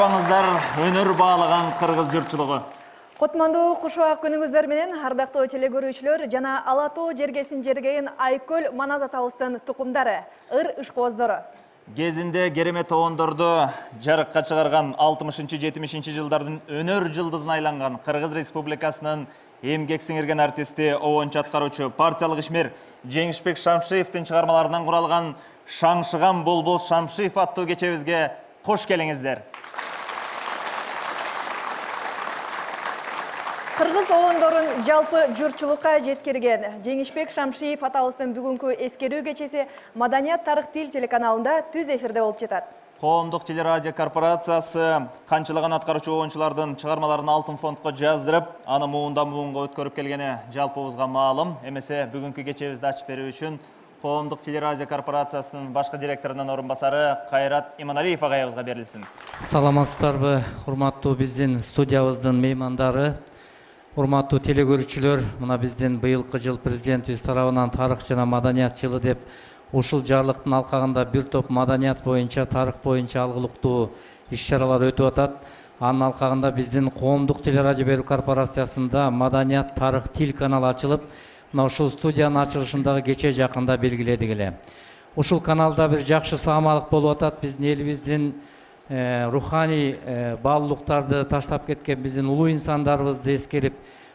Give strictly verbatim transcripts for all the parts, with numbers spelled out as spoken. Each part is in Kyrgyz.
саламыңыздар, өнөр баалаган кыргыз журтчулугу. Котмандуу кушубак күнүңүздөр менен ардактуу теле көрүүчүлөр жана Ала тоо жергесин жергейин Айкөл Манас атабыздын тукумдары, ыр ышкооздору. Кезинде керемет обондорду жарыкка чыгарган алтымышынчы жетимишинчи жылдардын өнөр жылдызына айланган Кыргыз Республикасынын эмгек сиңирген артисти, обончу аткаруучу, партиялык ишмер Жеңишбек Шамшиевдин чыгармаларынан куралган Шаңшыган Болбол Шамшиев аттуу кечебизге кош келиңиздер. Кыргыз обондорун жалпы журтчулукка жеткирген Жеңишбек Шамшиев атабыздын бүгүнкү эскерүү кечеси Маданият тарых тил телеканалында түз эфирде болуп жатат. Коомдук телерадио корпорациясы канчалаган аткаруучу обончулардын чыгармаларын алтын фондко жаздырып, аны муундан муунга өткөрүп келгени жалпыбызга маалым. Эмесе бүгүнкү кечебизди ачып берүү үчүн Коомдук телерадио корпорациясынын башкы директорунун орун басары Кайрат Иманалиев агайыбызга берилсин. Саламатсыздарбы, урматтуу биздин студиябыздын меймандары, урматтуу теле көрүүчүлөр, мына биздин быйылкы жыл президентибиз тарабынан тарых жана маданият жылы деп ушул жарлыктын алкагында бир топ маданият боюнча, тарых боюнча алгылыктуу иш-чаралар өтүп атат. Анын алкагында биздин Коомдук телерадио берүү корпорациясында Маданият тарых тил каналы ачылып, мына ушул студиянын ачылышындагы кече жакында белгиледик эле. Ушул каналда бир жакшы саамалык болуп атат. Биздин элибиздин руханий баалуулуктарды таштап кеткен биздин улуу инсандарыбызды эскерип,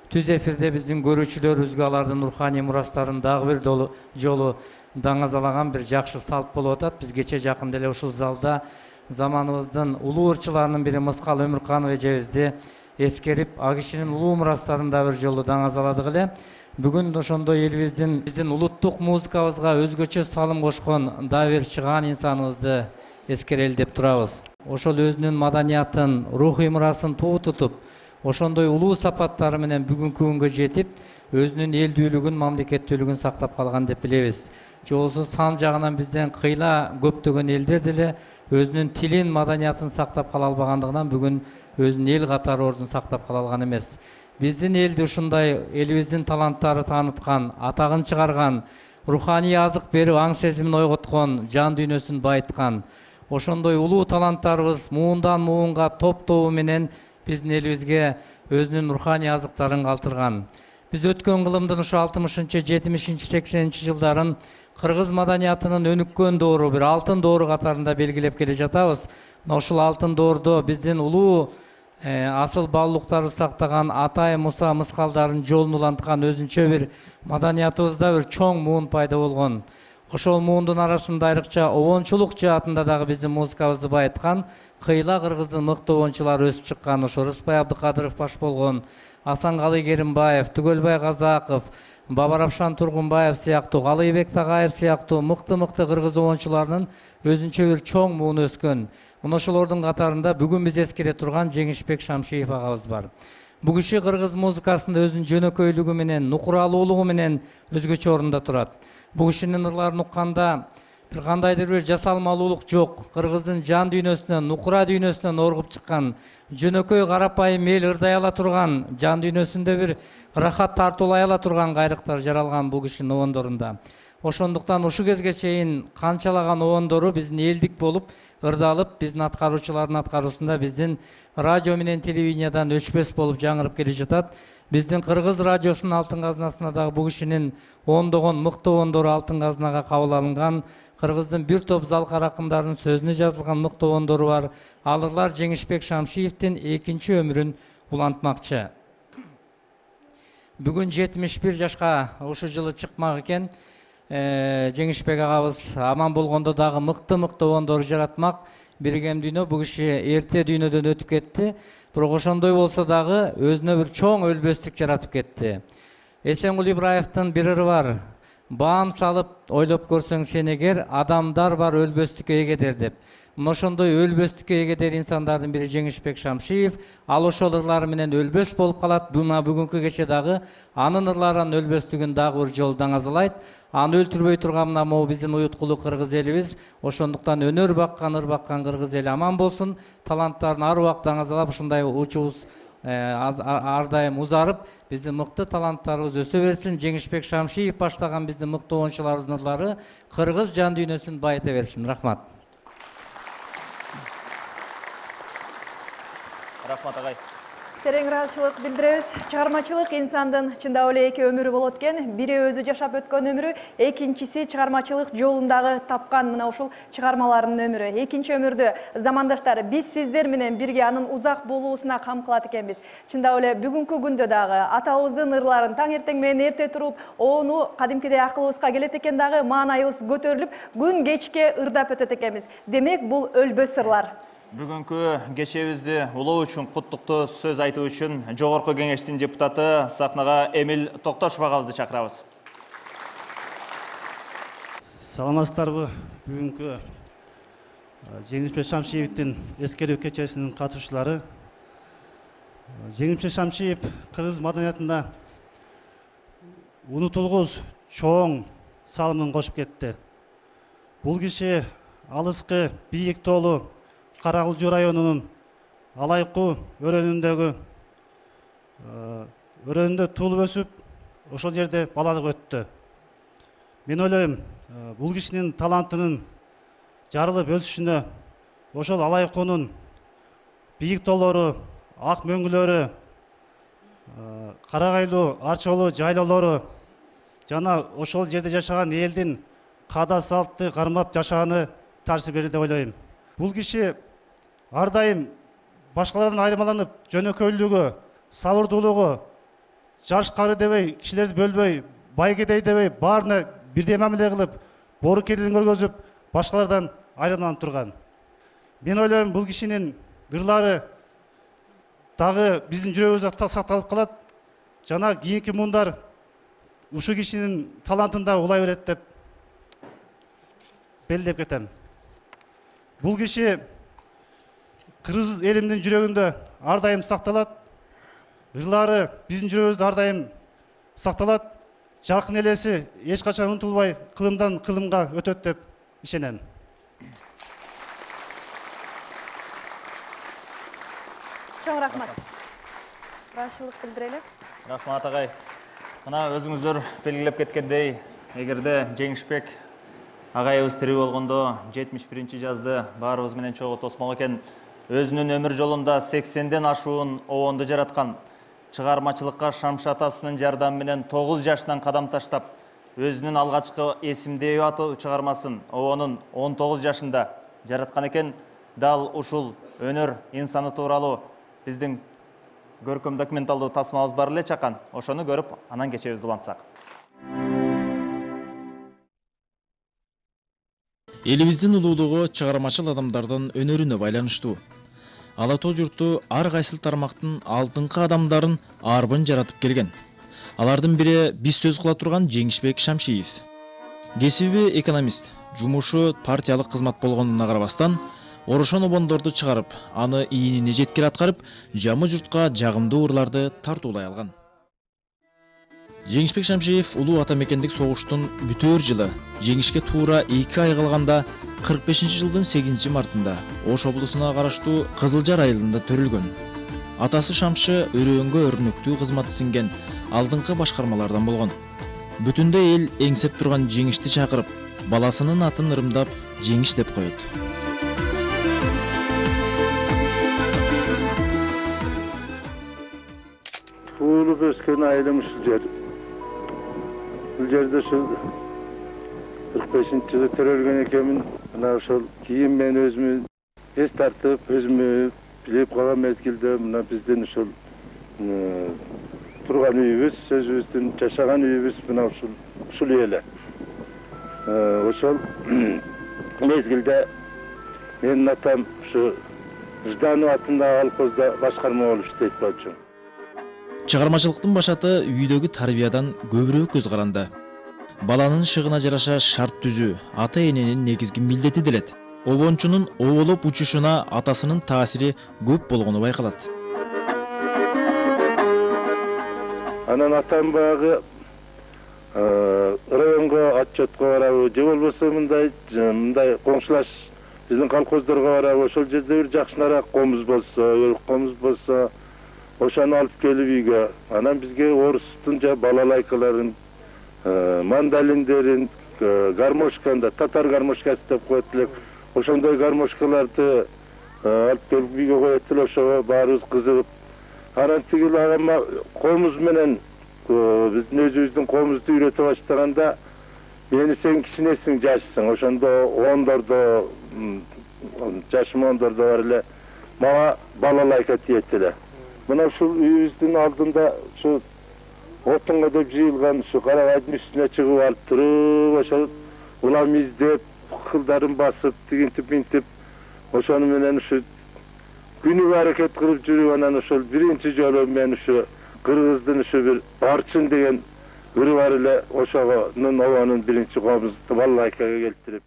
түз эфирде биздин көрүүчүлөрүбүзгө алардын руханий мурастарын дагы бир жолу даңазалаган бир жакшы салт болуп атат. Биз кече жакында эле ушул залда заманыбыздын улуу ырчыларынын бири Мыскал Өмүрканов эжебизди эскерип, а кишинин улуу мурастарын да бир жолу даңазаладык эле. Бүгүн ошондой элибиздин биздин улуттук музыкабызга өзгөчө салым кошкон дагы бир чыгаан инсаныбызды эскерели деп турабыз. Ошол өзүнүн маданиятын, рухий мурасын туу тутуп, ошондой улуу сапаттары менен бүгүнкү күнгө жетип, өзүнүн элдүүлүгүн, мамлекеттүүлүгүн сактап калган деп билебиз. Жолсуз сан жагынан бизден кыйла көптөгөн элдер деле өзүнүн тилин, маданиятын сактап кала албагандыгынан бүгүн өзүнүн эл катары ордун сактап кала алган эмес. Биздин элди ушундай элибиздин таланттары тааныткан, атагын чыгарган, руханий азык берип, аң сезимин ойготкон, жан дүйнөсүн байыткан, ошондой улуу таланттарыбыз муундан муунга топ тобу менен биздин элибизге өзүнүн руханий азыктарын калтырган. Биз өткөн кылымдын ушу алтымышынчы, жетимишинчи, сексенинчи жылдарын кыргыз маданиятынын өнүккөн доору, бир алтын доору катарында белгилеп келе жатабыз. Ушул алтын доордо биздин улуу асыл баалуулуктарды сактаган Атай Муса Мыскалдардын жолун уланткан өзүнчө бир маданиятыбызда бир чоң муун пайда болгон. Ошол муундун арасында айрыкча обончулук жаатында дагы биздин музыкабызды байыткан кыйла кыргыздын мыкты обончулары өсүп чыккан. Ошо Рыспай Абдыкадыров баш болгон, Асанкалы Керимбаев, Түгөлбай Казаков, Бабаравшан Тургунбаев сыяктуу, Калыйбек Тагаев сыяктуу мыкты-мыкты кыргыз обончуларынын өзүнчө бир чоң мууну өскөн. Мына ошолордун катарында бүгүн биз эскере турган Жеңишбек Шамшиев агабыз бар. Бул киши кыргыз музыкасында өзүнүн жөнөкөйлүгү менен, нукуралуулугу менен өзгөчө орунда турат. Бул кишинин ырларын укканда бир кандайдыр бир жасалмалуулук жок. Кыргыздын жан дүйнөсүнөн, нукура дүйнөсүнөн оргуп чыккан, жөнөкөй карапайым эл ырдай ала турган, жан дүйнөсүндө бир рахат тартуулай ала турган кайрыктар жаралган бул кишинин обондорунда. Ошондуктан ушу кезге чейин канчалаган обондору биздин элдик болуп ырдалып, биздин аткаруучулардын аткаруусунда биздин радио менен телевидениядан өчпөс болуп жаңырып келе жатат. Биздин кыргыз радиосунун алтын казынасына дагы бул кишинин ондогон мыкты обондору алтын казынага кабыл алынган. Кыргыздын бир топ залкар акындарынын сөзүнө жазылган мыкты обондору бар. Алырлар Жеңишбек Шамшиевдин экинчи өмүрүн улантмакчы. Бүгүн жетимиш бир жашка ушу жылы чыкмак экен. Жеңишбек агабыз аман болгондо дагы мыкты-мыкты обондору жаратмак. Биргем дүйнө, бул киши эрте дүйнөдөн өтүп кетти. Бирок ошондой болсо дагы өзүнө бир чоң өлбөстүк жаратып кетти. Эсенгул Ибраевдин бир ыры бар. Баам салып ойлоп көрсөң сен эгер, адамдар бар өлбөстүккө эгедер деп. Мына ошондой өлбөстүккө эгедер инсандардын бири Жеңишбек Шамшиев. Ал ошол ырлары менен өлбөс болуп калат. Мына бүгүнкү кече дагы анын ырларынын өлбөстүгүн дагы бир жолу даңазалайт. Аны өлтүрбөй турган мына могу биздин уюткулуу кыргыз элибиз. Ошондуктан өнөр баккан, ыр баккан кыргыз эли аман болсун. Таланттарын ар убакыт даңазалап, ушундай учубуз ар дайым узарып, биздин мыкты таланттарыбыз өсө берсин. Жеңишбек Шамшиев баштаган биздин мыкты обончуларыбыздын ырлары кыргыз жан дүйнөсүн байыта берсин. Рахмат. Рахмат агай. Терең ыраазычылык билдиребиз. Чыгармачылык инсандын чындап эле эки өмүрү болот экен. Бири өзү жашап өткөн өмүрү, экинчиси чыгармачылык жолундагы тапкан мына ушул чыгармаларынын өмүрү. Экинчи өмүрдү замандаштар биз сиздер менен бирге анын узак болуусуна кам кылат экенбиз. Чындап эле бүгүнкү күндө дагы атабыздын ырларын таң эртең менен эрте туруп, ону кадимкидей акылыбызга келет экен дагы, маанайыбыз көтөрүлүп, күн кечке ырдап өтөт экенбиз. Демек, бул өлбөс ырлар. Бүгүнкү кечебизди улоо үчүн куттуктуу сөз айтуу үчүн Жогорку Кеңештин депутаты сахнага Эмил Токтошов агабызды чакырабыз. Саламатсыздарбы? Бүгүнкү Жеңишбек Шамшиевдин эскерүү кечесинин катышуулары. Жеңишбек Шамшиев кыргыз маданиятында унутулгус чоң салымын кошуп кетти. Бул киши алыскы бийик тоолу Каракылжуу районунун Алайкуу өрөөнүндөгү өрөөнүндө туулуп өсүп, ошол жерде балалык өттү. Мен ойлойм, бул кишинин талантынын жарылып өсүшүнө ошол Алайкуунун бийик тоолору, ак мөңгүлөрү, карагайлуу арчолуу жайлоолору жана ошол жерде жашаган элдин каада салтты кармап жашааны таасир берди деп ойлойм. Бул киши ар дайым башкалардан айырмаланып, жөнөкөйлүгү, сабырдуулугу, жаш кары дебей, кишилерди бөлбөй, бай кедей дебей, баарына бирдей мамиле кылып, боорукерлигин көргөзүп, башкалардан айырмаланып турган. Мен ойлойм, бул кишинин ырлары дагы биздин жүрөгүбүздө сакталып калат, жана кийинки муундар ушул кишинин талантын да улай берет деп белгилеп кетем. Бул киши кыргыз элимдин жүрөгүндө ар дайым сакталат. Ырлары биздин жүрөгүбүздө ар дайым сакталат. Жаркын элеси эч качан унутулбай, кылымдан кылымга өтөт деп ишенем. Чоң рахмат. Ыраазычылык билдирели. Рахмат агай. Мына өзүңүздөр белгилеп кеткендей, эгерде Жеңишбек агайыбыз тирүү болгондо жетимиш биринчи жазды баарыбыз менен чогуу тосмок экен, өзүнүн өмүр жолунда сексенден ашуун обонду жараткан, чыгармачылыкка Шамшы атасынын жардамы менен тогуз жашынан кадам таштап, өзүнүн алгачкы эсимдеби аттуу чыгармасын обонун он тогуз жашында жараткан экен. Дал ушул өнөр инсаны тууралуу биздин көркөм документалдуу тасмабыз бар эле чакан. Ошону көрүп, анан кечебизди улантсак. Элибиздин улуулугу чыгармачыл адамдардын өнөрүнө байланыштуу. Ала тоо журту ар кайсыл тармактын алдыңкы адамдарын арбын жаратып келген. Алардын бири биз сөз кыла турган Жеңишбек Шамшиев. Кесиби экономист, жумушу партиялык кызмат болгонуна карабастан, орошон обондорду чыгарып, аны ийинине жеткире аткарып, жамы журтка жагымдуу ырларды тартуулай алган. Жеңишбек Шамшиев улуу ата мекендик согуштун бүтөөр жылы жеңишке туура эки ай калганда кырк бешинчи жылдын сегизинчи мартында Ош облусуна караштуу Кызылжар айылында төрүлгөн. Атасы Шамшы өрөөнгө өрнөктүү кызматы сиңген алдыңкы башкармалардан болгон. Бүтүндөй эл эңсеп турган Жеңишти чакырып, баласынын атын ырымдап Жеңиш деп коет. Туулуп өскөн айылым ушул жер. Бул жерде ушул кырк бешинчи жылы төрөлгөн экенмин. Мына ошол кийин мен өзүмө эс тартып, өзүмө билип калган мезгилде мына биздин ушул турган үйүбүз, өзүбүздүн жашаган үйүбүз мына ушул ушул эле. Ошол мезгилде менин атам ушу Жданов атындагы колхозда башкарма болуп иштейт болчу. Чыгармачылыктын башаты үйдөгү тарбиядан көбүрөөк көз каранды. Баланын шыгына жараша шарт түзүү ата эненин негизги милдети делет. Обончунун оолуп учушуна атасынын таасири көп болгону байкалат. Анан атам багы районго отчетко барабы, же болбосо мындай мындай коңшулаш биздин колхоздорго барабы, ошол жерде бир жакшыраак комуз болсо, өрүк комуз болсо, ошону алып келип үйгө. Анан бизге орустун жа балалайкаларын, мандалиндерин, гармошканда, татар гармошкасы деп коет элек. Ошондой гармошкаларды алып келип үйгө коет эле, ошого баарыбыз кызыгып. Анан тигил агама комуз менен биздин өзүбүздүн комузду үйрөтө баштаганда мени сен кичинесиң, жашсың, ошондо ондордо, жашым ондордо бар эле, мага балалайка тиет эле. Мына ушул үйүбүздүн алдында ушу отунга деп жыйылган ушу карагайдын үстүнө чыгып алып туруп, ошол улам издеп, кылдарын басып, тигинтип минтип, ошону менен ушу күнүгө аракет кылып жүрүп, анан ошол биринчи жолу мен ушу кыргыздын ушу бир Орчун деген ыры бар эле, ошонун обонун биринчи комузду балалайкага келтирип.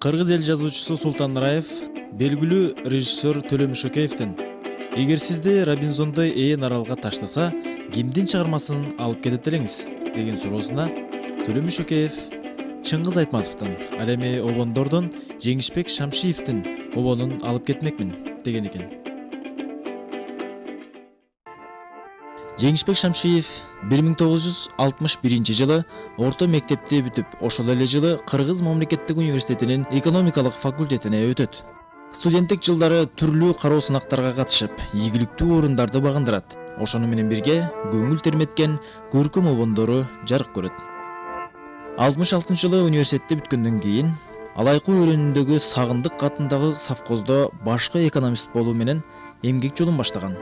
Кыргыз эл жазуучусу Султан Раев белгилүү режиссер Төлөм Шөкеевдин «Эгер сизди Робинзондой ээн аралга таштаса, кимдин чыгармасын алып кетет элеңиз?» деген суроосуна Төлөм Шөкеев Чыңгыз Айтматовдун, ал эми обондордон Жеңишбек Шамшиевдин обонун алып кетмекмин деген экен. Жеңишбек Шамшиев бир миң тогуз жүз алтымыш биринчи жылы орто мектепти бүтүп, ошол эле жылы Кыргыз мамлекеттик университетинин экономикалык факультетине өтөт. Студенттик жылдары түрлүү кароо сынактарга катышып, ийгиликтүү орундарды багындырат. Ошону менен бирге көңүл терметкен көркөм обондору жарык көрөт. алтымыш алтынчы жылы университетти бүткөндөн кийин Алайкуу өрөөнүндөгү Сагындык атындагы совхоздо башкы экономист болуу менен эмгек жолун баштаган.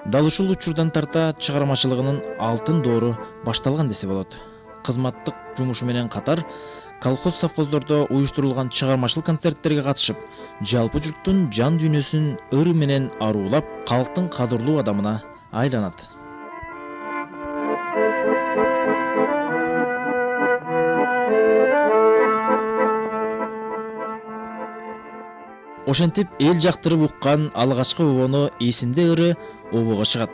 Дал ушул учурдан тарта чыгармачылыгынын алтын доору башталган десе болот. Кызматтык жумушу менен катар колхоз совхоздордо уюштурулган чыгармачыл концерттерге катышып, жалпы журттун жан дүйнөсүн ыр менен аруулап, калктын кадырлуу адамына айланат. Ошентип эл жактырып уккан алгачкы обону эсимде ыры обого чыгат.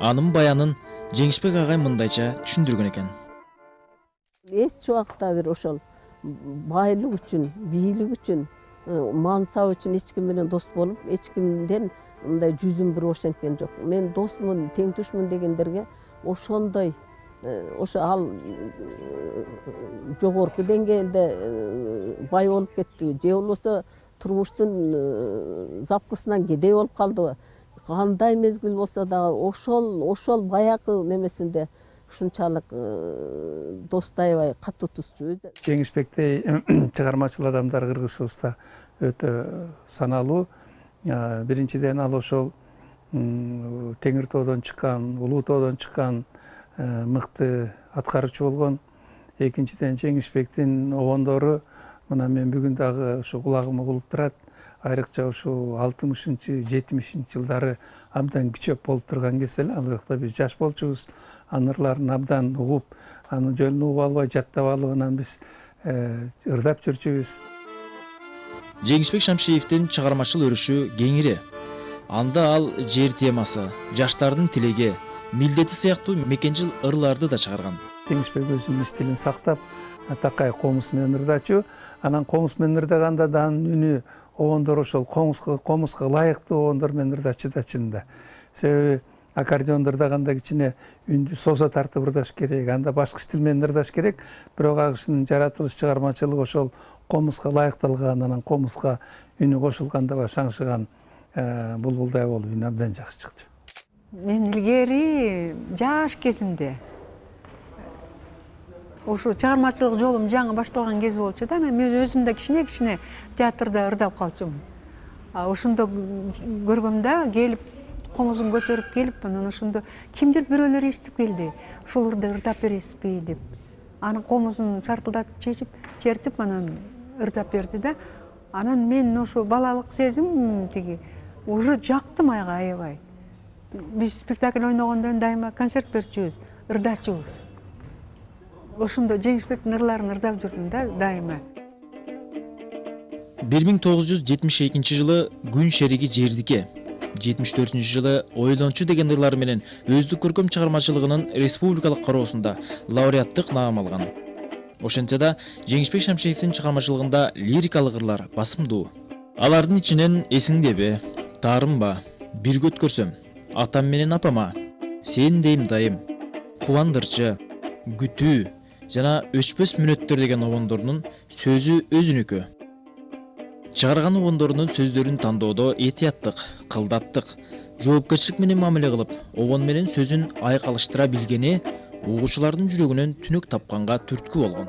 Анын баянын Жеңишбек агай мындайча түшүндүргөн экен. Эч убакта бир ошол байлык үчүн, бийлик үчүн, мансап үчүн эч ким менен дос болуп, эч кимден мындай жүзүм бир ошенткен жок. Мен досмун, теңдешмин дегендерге ошондой ошо ал жогорку деңгээлде бай болуп кеттиби, же болбосо турмуштун запкысынан кедей болуп калдыбы, кандай мезгил болсо дагы ошол ошол баягы немесинде ушунчалык достой аябай катуу тусчу. Жеңишбектей чыгармачыл адамдар Кыргызыбызда өтө саналуу. Биринчиден ал ошол Теңир тоодон чыккан, Улуу тоодон чыккан мыкты аткаруучу болгон. Экинчиден Жеңишбектин обондору мына мен бүгүн дагы ушу кулагыма угулуп турат. Айрыкча ушул алтымышынчы жетимишинчи жылдары абдан күчөп болуп турган кезде эле, ал убакта биз жаш болчубуз. Анын ырларын абдан угуп, анын жөнүн угуп албай, жаттап алып, анан биз ырдап жүрчүбүз. Жеңишбек Шамшиевдин чыгармачыл өрүшү кеңири. Анда ал жер темасы, жаштардын тилеги, милдети сыяктуу мекенжил ырларды да чыгарган. Жеңишбек өзүнүн стилин сактап, такай комуз менен ырдачу. Анан комуз менен ырдаганда да анын үнү обондор ошол комузга комузга ылайыктуу обондор менен ырдачу да чынында. Себеби аккордеондо ырдаганда кичине үндү созо тартып ырдаш керек, анда башка стил менен ырдаш керек. Бирок ал кишинин жаратылыш чыгармачылыгы ошол комузга ылайыкталган, анан комузга үнү кошулганда ба шаңшыган булбулдай болуп үнү абдан жакшы чыкты. Мен илгери жаш кезимде Ошо чыгармачылык жолум жаңы башталган кез болчу да. Мен өзүм да кичине-кичине театрда ырдап калчумун. Ошондо көргөмдө келип, комузун көтөрүп келип, анан ошондо кимдир бирөөлөр ээрчитип келди. Ушул ырды ырдап бересизби деп. Анын комузун шартылдатып чечип, чертип, анан ырдап берди да. Анан мен ошо балалык сезим тиги уже жакты майга аябай. Биз спектакль ойногондон дайыма концерт берчүбүз, ырдачубуз. Ошондо Жеңишбектин ырларын ырдап жүрдүм да дайыма. бир миң тогуз жүз жетимиш экинчи жылы Күн шериги жердике, жетимиш төртүнчү жылы Ойлончу деген ырлары менен өздүк көркөм чыгармачылыгынын республикалык короосунда лауреаттык наам алган. Ошентсе да Жеңишбек Шамшиевдин чыгармачылыгында лирикалык ырлар басымдуу. Алардын ичинен Эсиңдеби, Таарымба, Бирге өткөрсөм, Атам менен апама, Сен дейм дайым, Кубандырчы, Күтүү жана Өчпөс мүнөттөр деген обондордун сөзү өзүнүкү. Чыгарган обондордун сөздөрүн тандоодо этияттык, кылдаттык, жоопкерчилик менен мамиле кылып, обон менен сөзүн айкалыштыра билгени угуучулардын жүрөгүнөн түнөк тапканга түрткү болгон.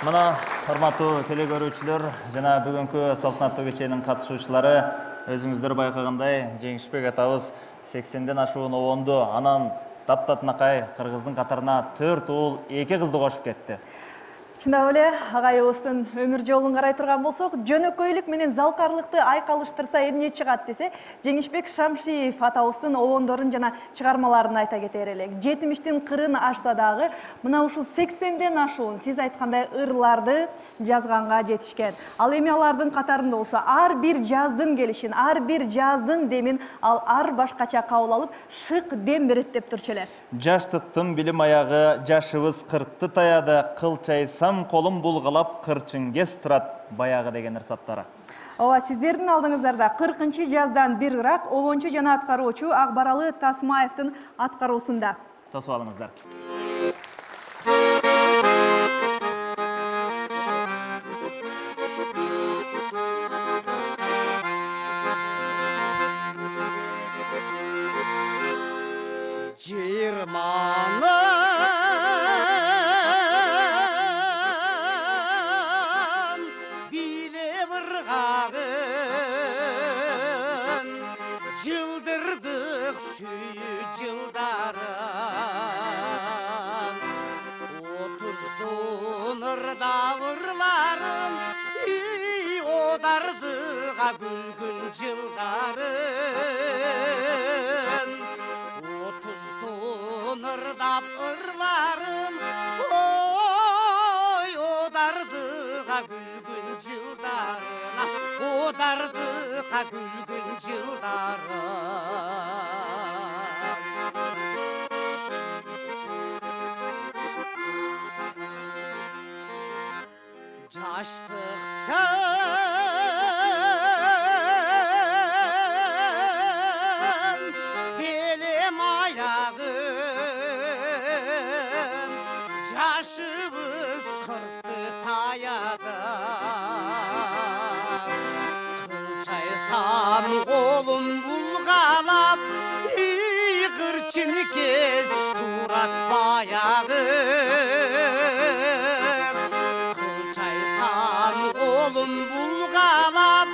Мына, урматтуу телегөрүүчүлөр жана бүгүнкү салтанаттуу кеченин катышуучулары, өзүңүздөр байкагандай, Жеңишбек атабыз сексенден ашуун обонду, анан таптатынакай кыргыздын катарына төрт уул, эки кызды кошуп кетти. Чындап эле агайыбыздын өмүр жолун карай турган болсок, жөнөкөйлүк менен залкарлыкты айкалыштырса эмне чыгат десе, Жеңишбек Шамшиев атабыздын обондорун жана чыгармаларын айта кетер элек. жетимиштин кырын ашса дагы, мына ушул сексенден ашуун сиз айткандай ырларды жазганга жетишкен. Ал эми алардын катарында болсо, ар бир жаздын келишин, ар бир жаздын демин ал ар башкача кабыл алып, шык дем берет деп турчу эле. Жаштыктын билим аягы, жашыбыз кыркты таяды, кылчайсам колум булгалап, кырчын кес турат баягы деген ырсаттары. Ооба, сиздердин алдыңыздарда кыркынчы жаздан бир ырак обончу жана аткаруучу Акбаралы Тасмаевдин аткаруусунда. Тосуп алыңыздар. Жылдырдык сүйүү жылдарын, отуздун ырдап ырларын, одардыга күлгүн жылдарын. Отуздун ырдап ырларын, ой, одардыга күлгүн жылдарын, одардыга күлгүн жылдарын. Жаштыктан белем аягым, жашыбыз кыркты таяды. Кылчайсам колум булгалап, кырчын кез турат баягы кылчайсам колум булгалап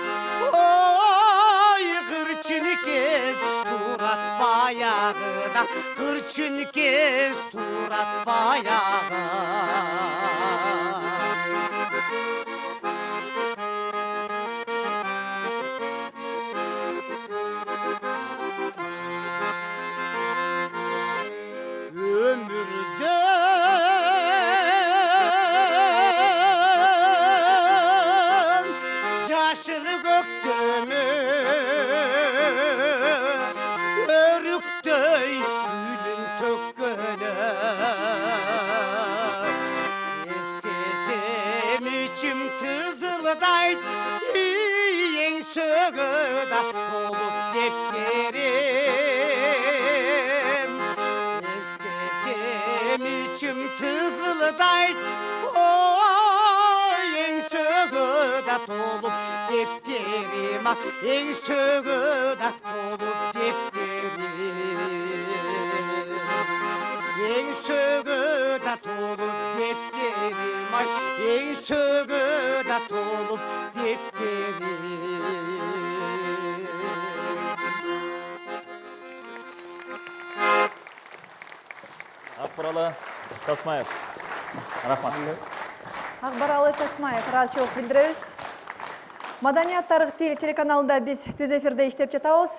ой кырчын кез турат баягыда кырчын кез турат баягы ömürden yaşını göktönü örüktey gülün tökkönü istesem içim kızıldayt en sögüda olup depkerim istesem içim kızıldayt oy en sögüda tolup depkerim en sögüda tolup depkerim en sögüda tolup depkerim en sögüda tolup depkerim Акбаралы Тасмаев. Рахмат. Акбаралы Тасмаев, ыраазычылык билдиребиз. Маданият тарых телеканалында биз түз эфирде иштеп жатабыз.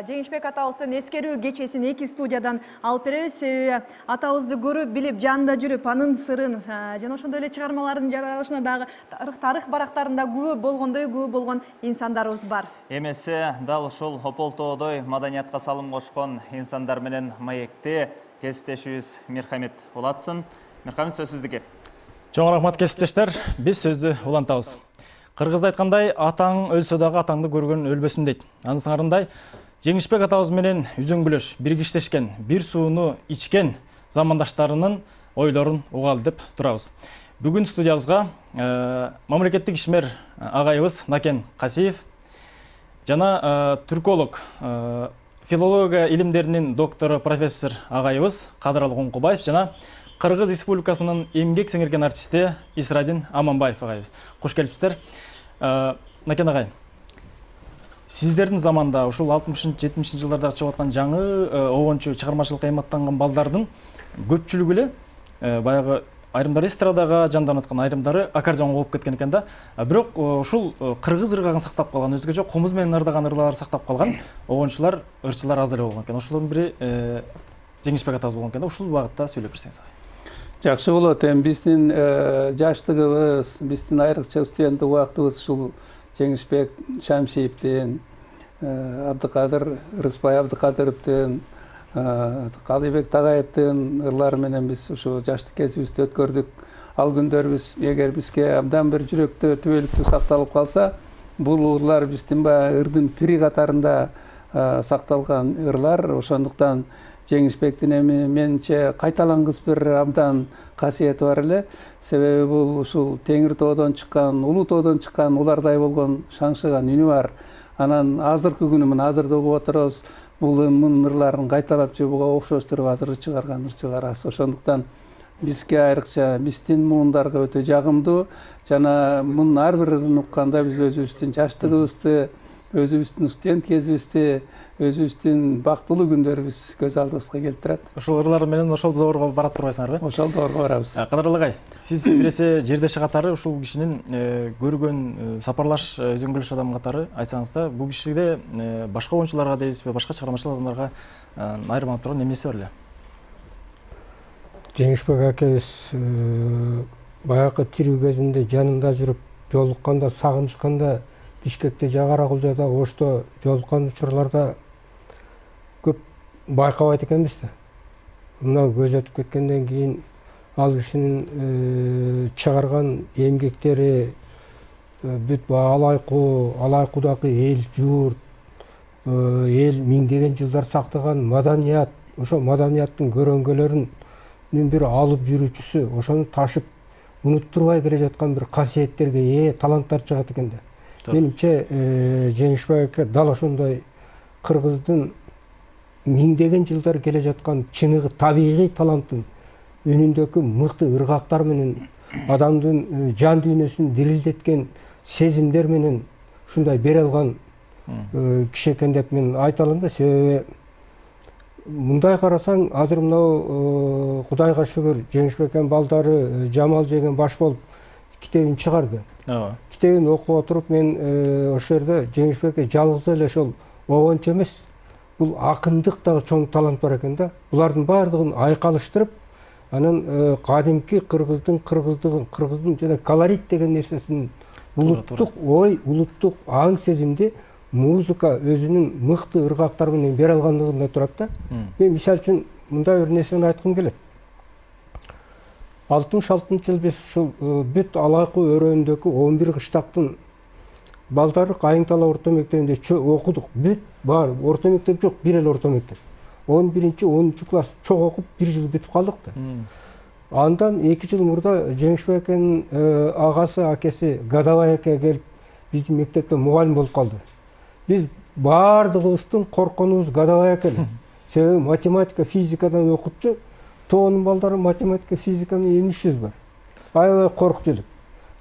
Жеңишбек атабыздын эскерүү кечесин эки студиядан алып беребиз. Себеби атабызды көрүп, билип, жанында жүрүп, анын сырын жана ошондой эле чыгармалардын жаралышына дагы тарых барактарында күбө болгондой күбө болгон инсандарыбыз бар. Эмесе дал ушул Ополтоодой маданиятка салым кошкон инсандар менен маекте кесиптешибиз Мирхамит улатсын. Мирхамит, сөз сиздики. Чоң рахмат кесиптештер. Биз сөздү улантабыз. Кыргызда айткандай, атаң өлсө дагы атаңды көргөн өлбөсүн дейт. Анын сыңарындай Жеңишбек атабыз менен үзөңгүлөш, биргиштешкен, бир сууну ичкен замандаштарынын ойлорун угалы деп турабыз. Бүгүн студиябызга мамлекеттик ишмер агайыбыз Накен Касиев жана түрколог, филология илимдеринин доктору профессор агайыбыз Кадыралы Коңкубаев жана Кыргыз Республикасынын эмгек сиңирген артисти Исрадин Аманбаев агайыбыз. Кош келипсиздер. Накен агай, сиздердин заманда ушул алтымышынчы жетимишинчи жылдарда чыгып аткан жаңы обончу чыгармачылыкка эйматтанган балдардын көпчүлүгү эле баягы айрымдары эстрадага жанданып аткан, айрымдары аккордеонго болуп кеткен экен да. Бирок ушул кыргыз ыргагын сактап калган, өзгөчө комуз менен ырдаган ырларды сактап калган обончулар, ырчылар аз эле болгон экен. Ошолордун бири Жеңишбек атабыз болгон экен да. Ушул багытта сөйлөп берсеңиз. Жакшы болот. Эми биздин жаштыгыбыз, биздин айрыкча студенттик убактыбыз ушул Жеңишбек Шамшиевдин, Абдыкадыр Рыспай Абдыкадыровдун, Калыйбек Тагаевдин ырлары менен биз ушу жаштык кезибизди өткөрдүк. Ал күндөрүбүз эгер бизге абдан бир жүрөктө түбөлүктүү сакталып калса, бул ырлар биздин баягы ырдын пири катарында сакталган ырлар. Ошондуктан Жеңишбектин эми менимче кайталангыс бир абдан касиети бар эле. Себеби бул ушул Теңир тоодон чыккан, Улуу тоодон чыккан улардай болгон шаңшыган үнү бар. Анан азыркы күнү мына азырда угуп отурабыз. Бул мунун ырларын кайталап же буга окшоштуруп азыр чыгарган ырчылар аз. Ошондуктан бизге айрыкча биздин муундарга өтө жагымдуу жана мунун ар бир ырын укканда биз өзүбүздүн жаштыгыбызды, өзүбүздүн студент кезибизди, өзүбүздүн бактылуу күндөрүбүз көз алдыбызга келтирет. Ошол ырлар менен ошол доорго барат турбайсыңарбы? Ошол доорго барабыз. Кадырлы агай, сиз биресе жердеши катары ушул кишинин көргөн сапарлаш, өзөңгүлөш адам катары айтсаңыз да, бул кишиде башка оюнчуларга дейсизби, башка чыгармачыл адамдарга айырмаланып турган эмеси бар эле? Жеңишбек акебиз баягы тирүү кезинде жанында жүрүп, жолукканда, сагынышканда Бишкекте, Жагара Кулжада, Ошто жолуккан учурларда көп байкабайт экенбиз да. Мына көз өтүп кеткенден кийин ал кишинин чыгарган эмгектери бүт алайкуу, алайкуудагы эл журт, эл миңдеген жылдар сактаган маданият, ошо маданияттын көрөңгөлөрүнүн бир алып жүрүүчүсү, ошону ташып унуттурбай келе жаткан бир касиеттерге ээ таланттар чыгат экен да. Менимче Жеңишбек аке дал ошондой кыргыздын миңдеген жылдар келе жаткан чыныгы табигый таланттын үнүндөгү мыкты ыргактар менен адамдын жан дүйнөсүн дирилдеткен сезимдер менен ушундай бере алган киши экен деп мен айта алам да. Себеби мындай карасаң, азыр мынау Кудайга шүгүр Жеңишбектин балдары Жамал жеген баш болуп китебин чыгарды. Китебин окуп отуруп мен ошол жерде Жеңишбекке жалгыз эле ошол обончу эмес, бул акындык дагы чоң талант бар экен да. Булардын баардыгын айкалыштырып, анан кадимки кыргыздын кыргыздыгын, кыргыздын жана колорит деген нерсесин, улуттук ой, улуттук аң сезимди музыка өзүнүн мыкты ыргактары менен бере алгандыгында турат да. Мен мисалы үчүн мындай бир нерсени айткым келет. алтымыш алтынчы жыл биз ушул бүт Алайкы өрөөндөгү он бир кыштактын балдары Кайыңтала орто мектебинде окудук. Бүт бар, орто мектеп жок, бир эле орто мектеп. он биринчи он үчүнчү класс чок окуп бир жыл бүтүп калдык да. Андан эки жыл мурда Жеңишбектин агасы, акеси Гадабай аке келип биздин мектепте мугалим болуп калды. Биз баардыгыбыздын корконубуз Гадабай аке эле. Себеби математика, физикадан окутчу, тоонун балдары математика, физика менен эмнишибиз бар. Аябай коркчу элек.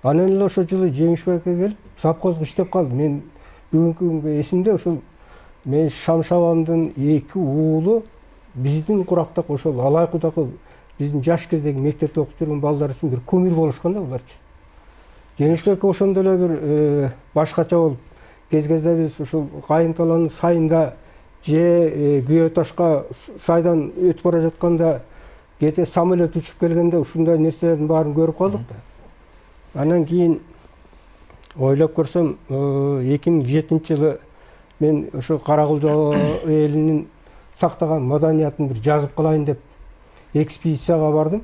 Анан эле ошол жылы Жеңишбек аке келип совхозго иштеп калды. Мен бүгүнкү күнгө эсимде, ошол мен Шамшабандын эки уулу биздин курактак ошол Алайкудагы биздин жаш кездеги мектепте окуп жүргөн балдар үчүн бир кумир болушкан да буларчы. Жеңишбек ошондой эле бир башкача болуп, кез-кезде биз ушул Кайыңталанын сайында же Күйө ташка сайдан өтүп бара жатканда кете самолет учуп келгенде ушундай нерселердин баарын көрүп калдык да. Анан кийин ойлоп көрсөм, эки миң жетинчи жылы мен ошо Каракулжо элинин сактаган маданиятын бир жазып калайын деп экспедицияга бардым.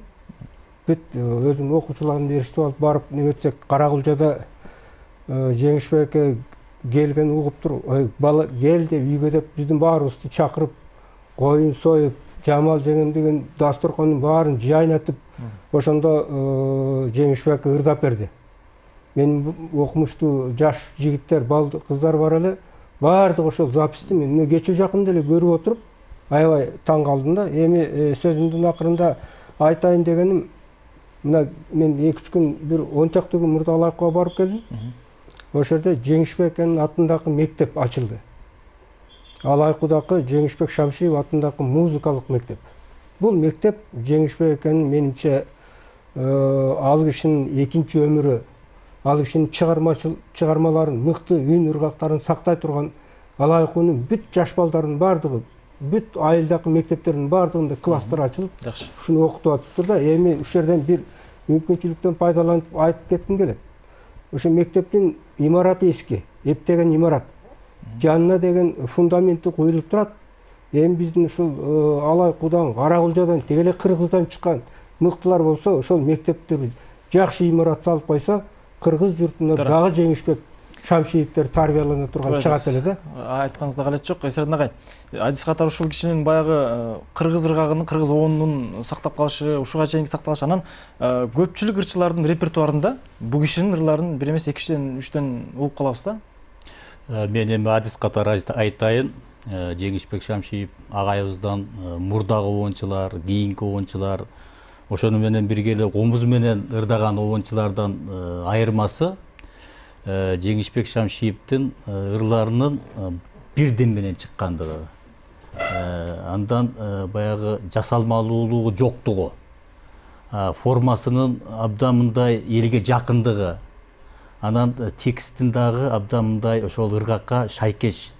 Бүт өзүм окуучуларымды эриштип алып барып, негетсек Каракулжода Жеңишбекке келген угуп туруп, бала кел деп үйгө деп биздин баарыбызды чакырып, коюн союп, Жамал жеңем деген дасторкондун баарын жайнатып, ошондо Жеңишбекке ырдап берди. Мен окумуштуу жаш жигиттер, балды кыздар бар эле, баардыгы ошол записти мен кечээ жакында эле көрүп отуруп, аябай таң калдым да. Эми сөзүмдүн акырында айтайын дегеним, мына мен эки үч күн бир он чакты күн мурда Алайкыга барып келдим. Ошол жерде Жеңишбектин атындагы мектеп ачылды. Алайкудагы Жеңишбек Шамшиев атындагы музыкалык мектеп. Бул мектеп Жеңишбектин менимче ал кишинин экинчи өмүрү, ал кишинин чыгармаларын, мыкты үн ыргактарын сактай турган Алайкунун бүт жаш балдарынын баардыгы, бүт айылдагы мектептердин баардыгында класстар ачылып, ушуну окутуп атыптыр да. Эми ушул жерден бир мүмкүнчүлүктөн пайдаланып айтып кетким келет. Ошо мектептин имараты эски, эптеген имарат. Жанына деген фундаменти коюлуп турат. Эми биздин ушул Алайкудан, Каракулжадан, тегеле Кыргыздан чыккан мыктылар болсо, ошол мектепти жакшы имарат салып койсо, кыргыз журтунда дагы Жеңишбек Шамшиевдер тарбиялана турган чыгат эле да. Айтканыңызда калет жок, Эсердин агай. Адис катары ушул кишинин баягы кыргыз ыргагынын, кыргыз оонунун сактап калышы, ушуга чейинки сакталышы, анан көпчүлүк ырчылардын репертуарында бул кишинин ырларын бир эмес экиден үчтөн угуп калабыз да. Мен эми адис катары айтайын. Жеңишбек Шамшиев агайыбыздан мурдагы оончулар, кийинки оончулар, ошону менен бирге эле комуз менен ырдаган оончулардан айырмасы Жеңишбек Шамшиевдин ырларынын бирден менен чыккандыгы. Андан баягы жасалмалуулугу жоктугу, формасынын абдан мындай элге жакындыгы, анан текстин дагы абдан мындай ошол ыргакка шайкеш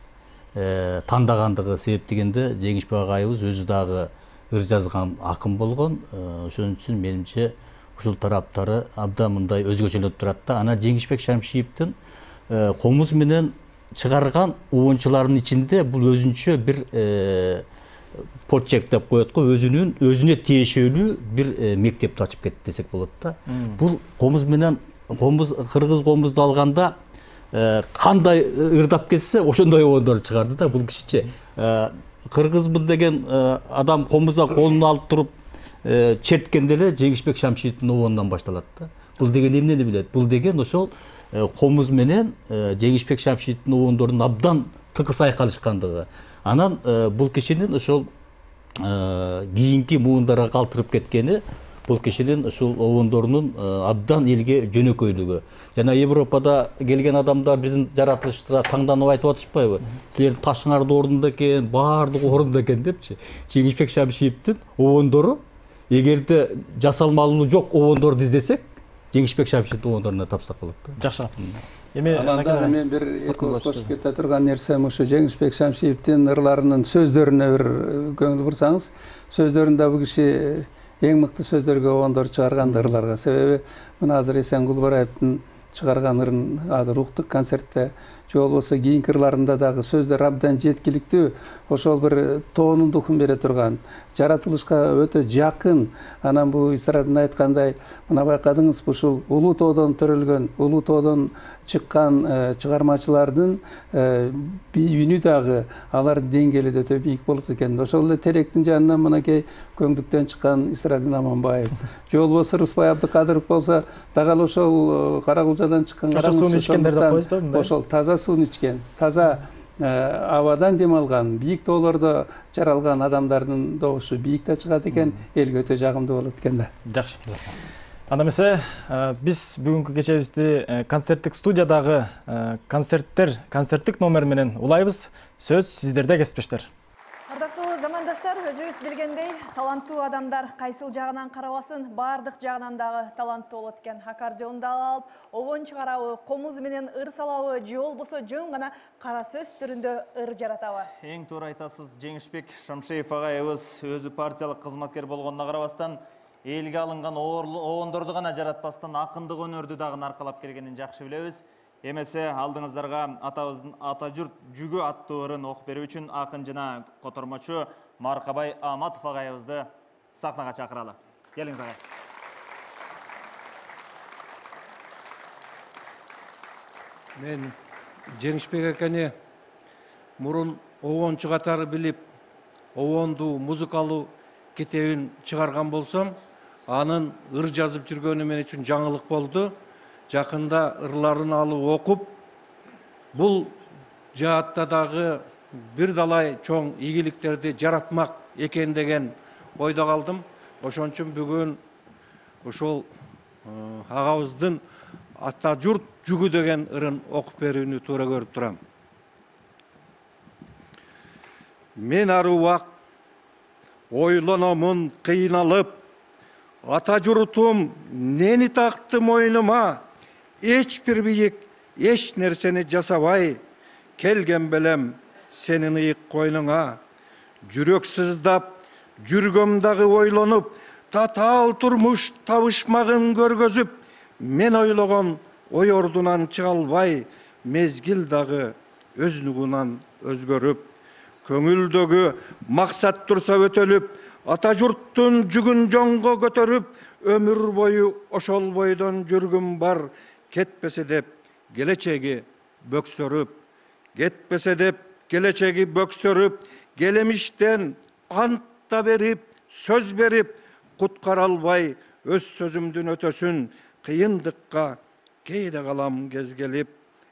тандагандыгы себептегенде Жеңишбек агайыбыз өзү дагы ыр жазган акын болгон. Ошон үчүн менимче ушул тараптары абдан мындай өзгөчөлөп турат да. Анан Жеңишбек Шамшиевдин комуз менен чыгарган оончулардын ичинде бул өзүнчө бир почерк деп коет го, өзүнүн өзүнө тиешелүү бир мектепти ачып кетти десек болот да. Бул комуз менен комуз, кыргыз комузду алганда кандай ырдап кетсе ошондой оондор чыгарды да. Бул кишиче кыргызмын деген адам комузга колун алып туруп черткенде эле Жеңишбек Шамшиевдин оонунан башталат да. Бул деген эмнени билет? Бул деген ошол комуз менен Жеңишбек Шамшиевдин оондорунун абдан тыкыз айкалышкандыгы. Анан бул кишинин ошол кийинки муундарга калтырып кеткени бул кишинин ушул обондорунун абдан элге жөнөкөйлүгү. Жана Европада келген адамдар биздин жаратылышта таңданып айтып атышпайбы? Силердин ташыңар да ордунда экен, баардыгы ордунда экен депчи. Жеңишбек Шамшиевдин обондору эгерде жасалмалуу жок обондорду издесек, Жеңишбек Шамшиевдин обондоруна тапсак болот. Жакшы. Эми анан мен бир эки кошуп кете турган нерсем ушу Жеңишбек Шамшиевдин ырларынын сөздөрүнө бир көңүл бурсаңыз, сөздөрүндө бул киши эң мыкты сөздөргө обондор чыгарган ырларга. Себеби мына азыр Эсен Кулбараевдин чыгарган ырын азыр уктук концертте, же болбосо кийинки ырларында дагы сөздөр абдан жеткиликтүү, ошол бир тоонун духун бере турган, жаратылышка өтө жакын. Анан бул эстрадада айткандай, мына байкадыңызбы, ушул улуу тоодон төрөлгөн, улуу тоодон чыккан чыгармачылардын үнү дагы алардын деңгээли да өтө бийик болот экен. Ошол эле Теректин жанынан мынакей Көңдүктөн чыккан Исрадин Аманбаев, же болбосо Рыспай Абдыкадыров болсо дагы ошол Каракулжадан чыккан сууну ичкендер деп коебузбу мындай? Ошол таза сууну ичкен, таза абадан дем алган, бийик тоолордо жаралган адамдардын добушу бийик да чыгат экен, элге өтө жагымдуу болот экен да. Жакшы. Анда эмесе биз бүгүнкү кечебизди концерттик студиядагы концерттер, концерттик номер менен улайбыз. Сөз сиздерде, кесиптештер. Ардактуу замандаштар, өзүбүз билгендей, таланттуу адамдар кайсыл жагынан карабасын, баардык жагынан дагы таланттуу болот экен. Аккордеонду алып, обон чыгарабы, комуз менен ыр салабы, же болбосо жөн гана кара сөз түрүндө ыр жаратабы. Эң туура айтасыз, Жеңишбек Шамшиев агайыбыз өзү партиялык кызматкер болгонуна карабастан, элге алынган обондорду гана жаратпастан акындык өнөрдү дагы аркалап келгенин жакшы билебиз. Эмесе алдыңыздарга атабыздын Ата журт жүгү аттуу ырын окуп берүү үчүн акын жана котормочу Маркабай Аматов агайыбызды сахнага чакыралы. Келиңиз агай. Мен Жеңишбек экени мурун обончу катары билип, обонду музыкалуу китебин чыгарган болсом, анын ыр жазып жүргөнү мен үчүн жаңылык болду. Жакында ырларын алып окуп, бул жаатта дагы бир далай чоң ийгиликтерди жаратмак экен деген ойдо калдым. Ошон үчүн бүгүн ошол агабыздын Ата журт жүгү деген ырын окуп берүүнү туура көрүп турам. Мен ар убак ойлономун кыйналып, ата журтум нени такты мойнума, эч бир бийик эч нерсени жасабай, келген белем сенин ыйык койнуңа. Жүрөк сыздап, жүргөм дагы ойлонуп, татаал турмуш табышмагын көргөзүп, мен ойлогон ой ордунан чыга албай, мезгил дагы өз нугунан өзгөрүп, көңүлдөгү максат турса өтөлүп, ата журттун жүгүн жоңго көтөрүп, өмүр бою ошол бойдон жүргүм бар, кетпесе деп келечеги бөксөрүп, кетпесе деп келечеги бөксөрүп, келемиштен ант берип, сөз берип, куткара албай өз сөзүмдүн өтөсүн, кыйындыкка кейде калам кез келип,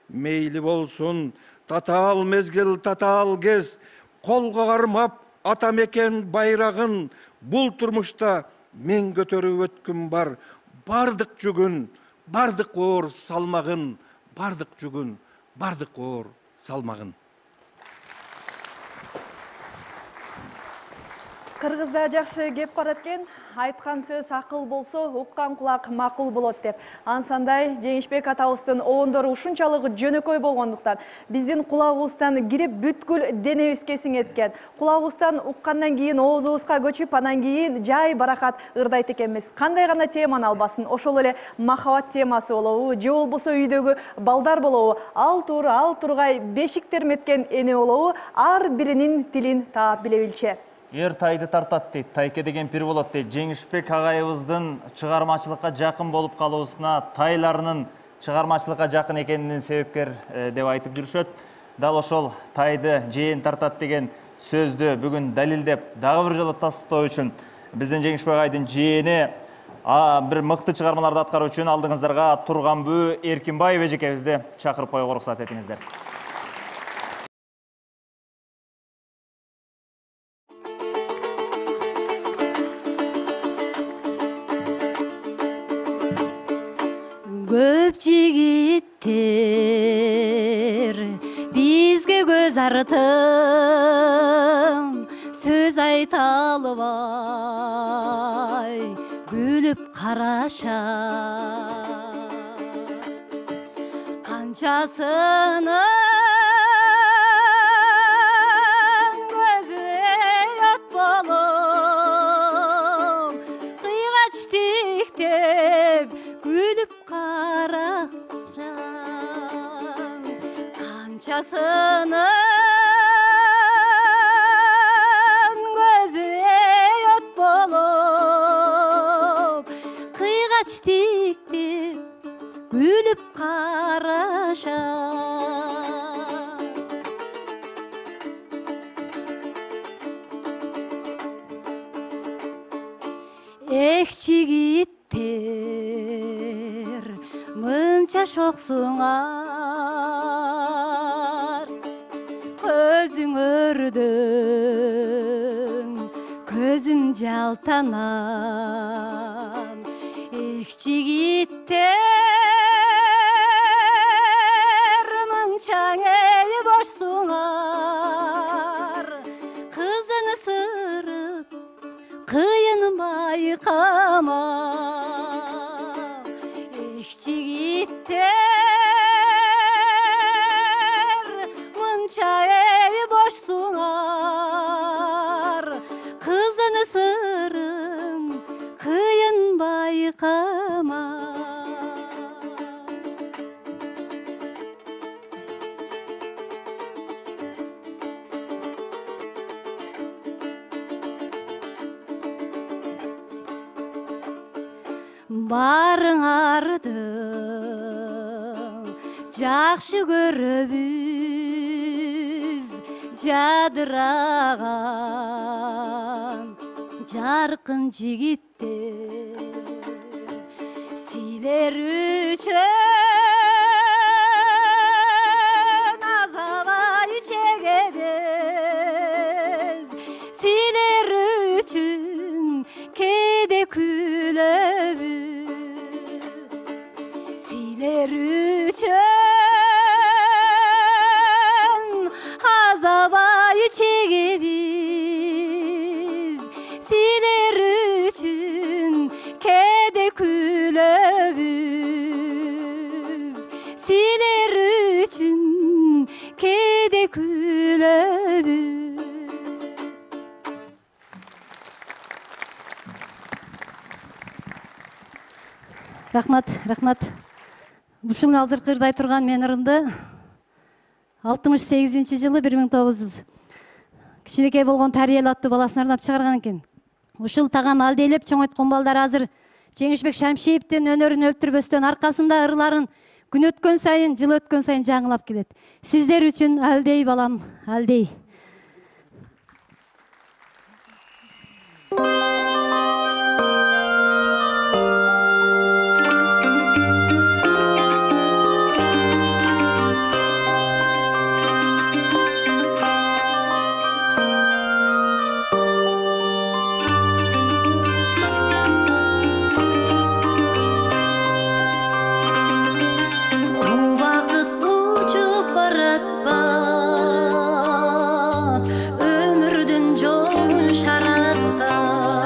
мейли болсун татаал мезгил, татаал кез, колго кармап ата мекен байрагын, бул турмушта мен көтөрүп өткүм бар, бардык жүгүн, бардык оор салмагын, бардык жүгүн, бардык оор салмагын. Кыргызда жакшы кеп барат экен, айткан сөз акыл болсо, уккан кулак макул болот деп. Ансандай Жеңишбек атабыздын обондору ушунчалык жөнөкөй болгондуктан, биздин кулагыбыздан кирип бүткүл денебизге сиңеткен. Кулагыбыздан уккандан кийин оозубузга көчүп, анан кийин жай баракат ырдайт экенбиз. Кандай гана теманы албасын, ошол эле махабат темасы болобу, же болбосо үйдөгү балдар болобу, ал тур, ал тургай бешик терметкен эне болобу, ар биринин тилин таап биле билчү. Эр тайды тартат дейт, тайке деген пир болот дейт. Жеңишбек агайыбыздын чыгармачылыкка жакын болуп калуусуна тайларынын чыгармачылыкка жакын экенинин себепкер деп айтып жүрүшөт. Дал ошол тайды жээн тартат деген сөздү бүгүн далилдеп, дагы бир жолу тастоо үчүн биздин Жеңишбек агайдын жээни бир мыкты чыгармаларды аткаруу үчүн алдыңыздарга Турганбүү Эркинбаев эжекебизди чакырып коюуга уруксат этиңиздер. көп жигиттер бизге көз артым сөз айта албай күлүп карашат канчасынын күлүп карашам канчасынын көзү от болуп кыйгач тиктеп күлүп карашам эх жигиттер мынча шоксуңар көзүңөрдөн көзүм жалтанам эх жигиттер мынча эл бошсуңар кызын ысырып кыйын байкама жигиттер мынча эл бошсуңар кыздын сырын кыйын байкама барыңарды жакшы көрөбүз жадыраган жаркын жигиттер силер үчүн азабай чегебиз силер үчүн кээде күлөбүз силер үчүн азабай чегебиз силер үчүн кээде күлөбүз силер үчүн кээде күлөбүз. Рахмат, рахмат. Ушул азыркы ырдай турган мен ырымды алтымыш сегизинчи жылы бир миң тогуз жүз кичинекей болгон Тариел аттуу баласына арнап чыгарган экен. Ушул тагам алдейлеп чоңойткон балдар азыр Жеңишбек Шамшиевдин өнөрүн өлтүрбөстөн аркасында ырларын күн өткөн сайын, жыл өткөн сайын жаңылап келет. Сиздер үчүн алдей балам, алдей. Ömürdün yolun şarattan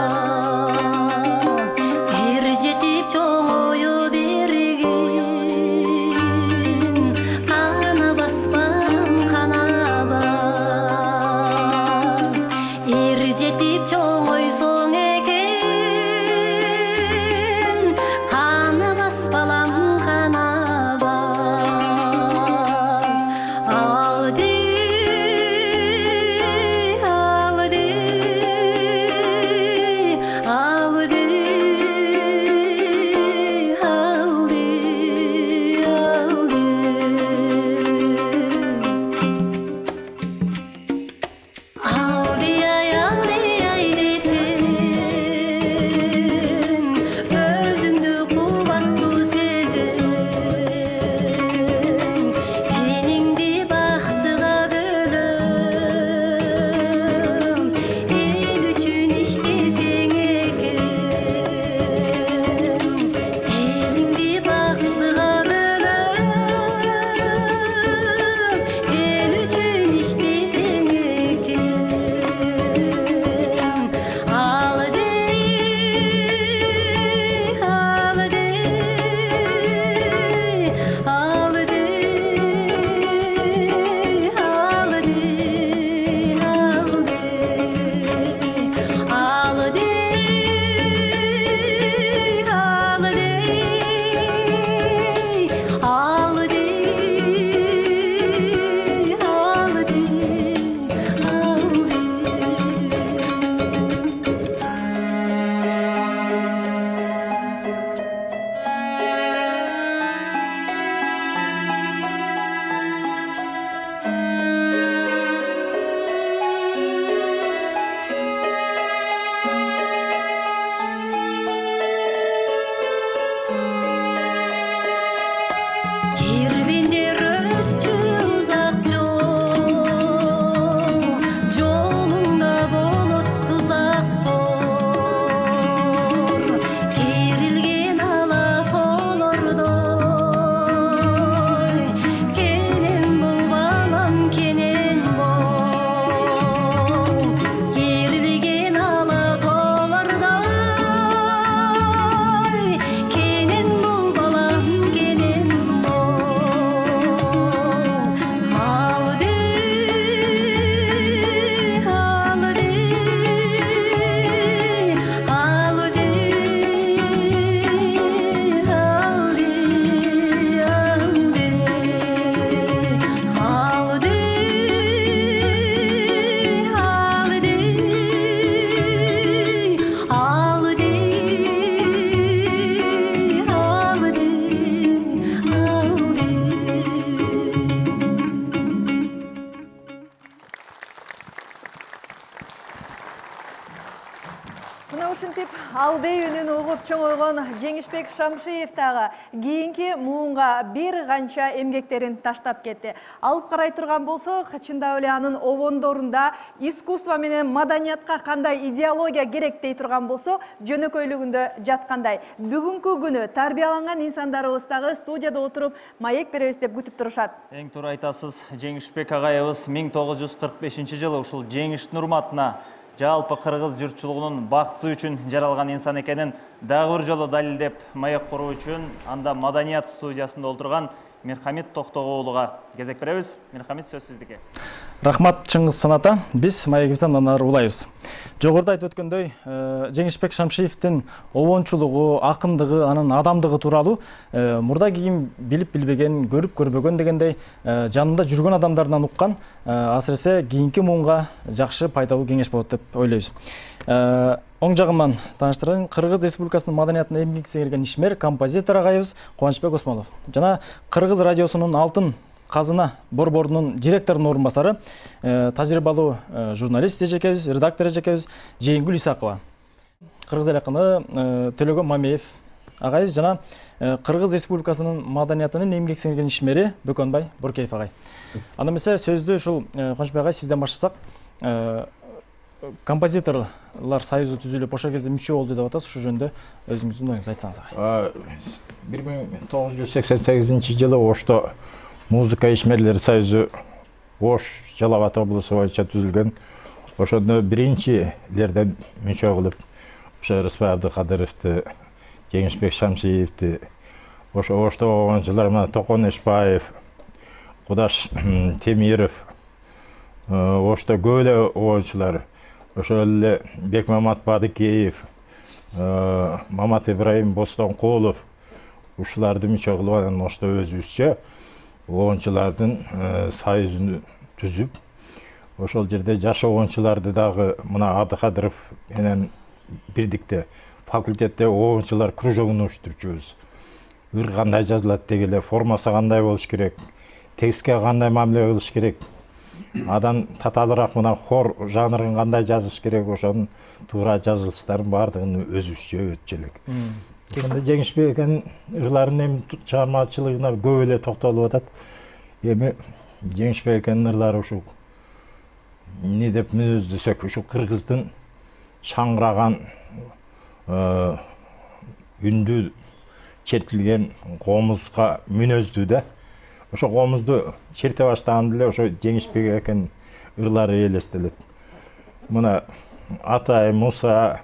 кирбиндер өтчү узак жол жолуңда болот тузак тор керилген ала тоолордой кенен бул балам кенен бол керилген ала тоолордой кенен бул балам кенен Мына ушинтип албей үнүн угуп чоңойгон Жеңишбек Шамшиев дагы кийинки муунга бир канча эмгектерин таштап кетти. Алып карай турган болсок, чындап эле анын обондорунда искусство менен маданиятка кандай идеология керек дей турган болсо, жөнөкөйлүгүндө жаткандай. Бүгүнкү күнү тарбияланган инсандарыбыз дагы студияда отуруп маек беребиз деп күтүп турушат. Эң туура айтасыз, Жеңишбек агайыбыз миң тогуз жүз кырк бешинчи жылы ушул жеңиштин урматына жалпы кыргыз журтчулугунун баксы үчүн жаралган инсан экенин дагы бир жолу далилдеп маек куруу үчүн анда Маданият студиясында отурган Мирхамит Токтогул уулуга кезек беребиз. Мирхамит, сөз сиздики. Рахмат Чыңгыз Саната. Биз маегибизден ары улайбыз. Жогоруда айтып өткөндөй, Жеңишбек Шамшиевдин обончулугу, акындыгы, анын адамдыгы тууралуу мурда кийин билип билбеген, көрүп көрбөгөн дегендей жанында жүргөн адамдардан уккан, асыресе кийинки муунга жакшы пайдалуу кеңеш болот деп ойлойбуз. Оң жагыман тааныштырайын, Кыргыз Республикасынын маданиятына эмгек сиңирген ишмер, композитор агайыбыз Кубанычбек Осмонов жана Кыргыз радиосунун Алтын Казына борборунун директорунун орун басары, тажрыйбалуу журналист эжекебиз, редактор эжекебиз Жэйингүл Исакова. Кыргыз эл акыны Төлөгөн Мамеев агайыбыз жана Кыргыз Республикасынын маданиятынын эмгек сиңирген ишмери Бөкөнбай Буркеев агай. Анда эмесе сөздү ушул Кубанычбек агай сизден баштасак, композиторлор союзу түзүлүп ошол кезде мүчө болду деп атасыз, ушул жөнүндө өзүңүздүн оюңузду айтсаңыз. бир миң тогуз жүз сексен сегизинчи жылы Ошто музыка ишмерлери союзу Ош Жалал Абад облусу боюнча түзүлгөн. Ошондо биринчилерден мүчө кылып, ошо Рыспай Абдыкадыровду, Жеңишбек Шамшиевди, ошо Ошто болгончулар мына Токон Эшбаев, Кудаш Темиров, Ошто көп эле обончулар, ошол эле Бекмамат Бадыкеев, Мамат Ибраим Бостонкулов, ушуларды мүчө кылып анан Ошто өзүбүзчө обончулардын союзун түзүп, ошол жерде жаш обончуларды дагы мына Абдыкадыров менен бирдикте факультетте обончулар кружогун уюштурчубуз. Ыр кандай жазылат дегеле, формасы кандай болуш керек, текстке кандай мамиле кылыш керек, адан татаалыраак мына хор жанрын кандай жазыш керек, ошонун туура жазылыштарын баардыгын өзүбүзчө өтчү элек. Ошондо Жеңишбек экенин ырларынын эми чыгармачылыгына көп эле токтолуп атат. Эми Жеңишбек экенин ырлары ушул эмне деп мүнөздөсөк, ушул кыргыздын шаңыраган үндү чертилген комузга мүнөздүү да. Ошо комузду черте баштаганда эле ошо Жеңишбек экен ырлары элестелет. Мына Атай, Муса,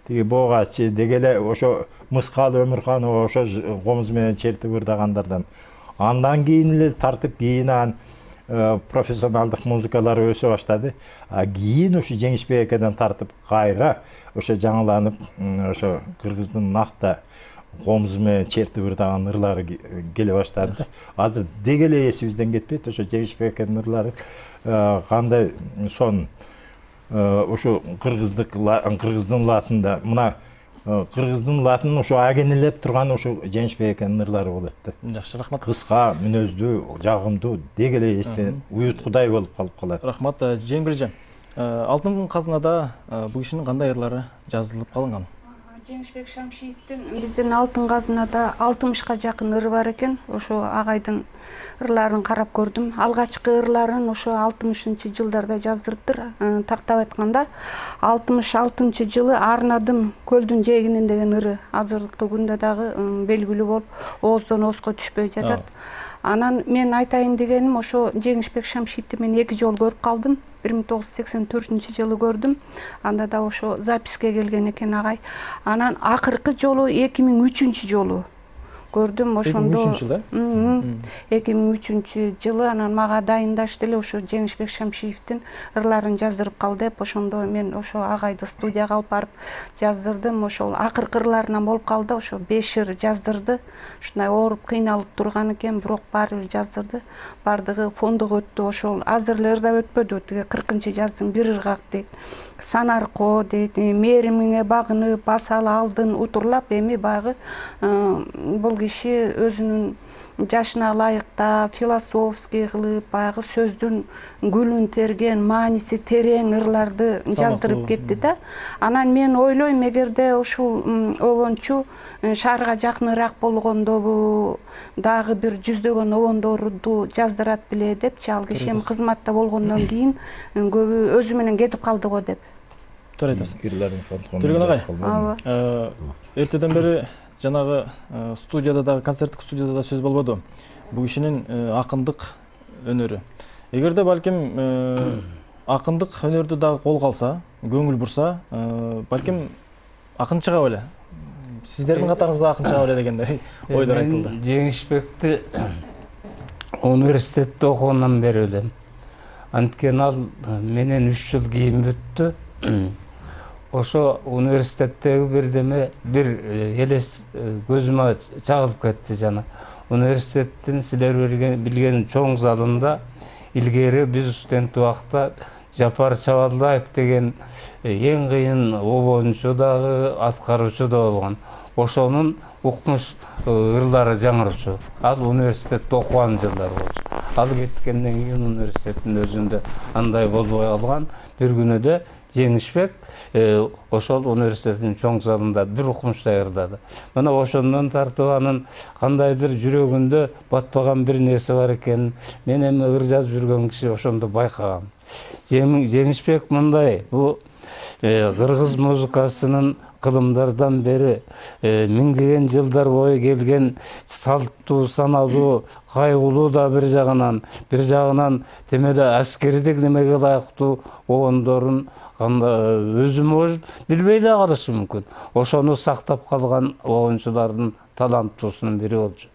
тиги Богачы дегеле ошо Мыскал Өмүрханова ошо комуз менен чертип ырдагандардан. Андан кийин эле тартып кийин анан профессионалдык музыкалар өсө баштады. А кийин ушу Жеңишбек экеден тартып кайра ошо жаңыланып, ошо кыргыздын накта комузу менен чертип ырдаган ырлары келе баштады. Азыр дегеле эсибизден кетпейт, ошо Жеңишбек экенин ырлары кандай сон ошо кыргыздык кыргыздын латында мына кыргыздын латын ошо агенелеп турган ошо Жеңишбек экенин ырлары болот да. Жакшы, рахмат. Кыска, мүнөздүү, жагымдуу, дегеле эстен уюткудай болуп калып калат. Рахмат, Жеңгүлжан. Алтын Казынада бул кишинин кандай ырлары жазылып калынган? Жеңишбек Шамшиевдин биздин алтын казынада алтымышка жакын ыры бар экен. Ошо агайдын ырларын карап көрдүм. Алгачкы ырларын ошо алтымышынчы жылдарда жаздырыптыр. Тактап айтканда алтымыш алтынчы жылы арнадым көлдүн жээгинен деген ыры азыркы күндө дагы белгилүү болуп ооздон оозго түшпөй жатат. Анан мен айтайын дегеним ошо Жеңишбек Шамшиевди мен эки жолу көрүп калдым. бир миң тогуз жүз сексен төртүнчү жылы көрдүм. Анда да ошо записке келген экен агай. Анан акыркы жолу эки миң үчүнчү жолу көрдүм. Ошондо эки миң үчүнчү жылы анан мага дайындашты эле ошо Жеңишбек Шамшиевдин ырларын жаздырып кал деп. Ошондо мен ошо агайды студияга алып барып жаздырдым. Ошол акыркы ырларынан болуп калды. Ошо беш ыр жаздырды. Ушундай ооруп кыйналып турган экен, бирок баары бир жаздырды. Бардыгы фондук өттү. Ошол азыр эле ырда өтпөдү. Тиги кыркынчы жаздың бир ыргак дейт. Санарко дейт, мээримиңе багынып, басалы алдын утурлап, эми баягы бул киши өзүнүн жашына ылайыктап, философский кылып, баягы сөздүн гүлүн терген, мааниси терең ырларды жаздырып кетти да. Анан мен ойлойм, эгерде ушул обончу шаарга жакыныраак болгондобу дагы бир жүздөгөн обондорду жаздырат беле депчи, ал киши эми кызматта болгондон кийин көбү өзү менен кетип калды го деп. Туура айтасыз. Төлөгөн агай, эртеден бери жанагы студияда дагы, концерттик студияда да сөз болбоду. Бул кишинин акындык өнөрү. Эгерде балким акындык өнөрдү дагы колго алса, көңүл бурса, балким акын чыга беле. Сиздердин катарыңызда акын чыга беле дегендей ойлор айтылды. Жеңишбекти университетте окугандан бери билем. Анткени ал менен үч жыл кийин бүттү. Ошо университеттеги бирдеме бир элес көзүмө чагылып кетти жана. Университеттин силер билген чоң залында илгери биз студент убакта Жапар Чабалдаев деген эң кыйын обончу дагы, аткаруучу да болгон. Ошонун укмуш ырлары жаңырчу. Ал университетте окуган жылдар болчу. Ал кеткенден кийин университеттин өзүндө андай болбой калган. Бир күнүдө Жеңишбек ошол университеттин чоң залында бир укмуштай ырдады. Мына ошондон тартып анын кандайдыр жүрөгүндө батпаган бир нерсе бар экенин мен эми ыр жазып жүргөн киши ошондо байкагам. Жеңишбек мындай, бул кыргыз музыкасынын кылымдардан бери миңдеген жылдар бою келген салттуу, саналуу, кайгылуу да бир жагынан, бир жагынан темеле аскердик немеге ылайыктуу обондорун өзүм билбей да калышы мүмкүн. Ошону сактап калган обончулардын таланттуусунун бири болчу.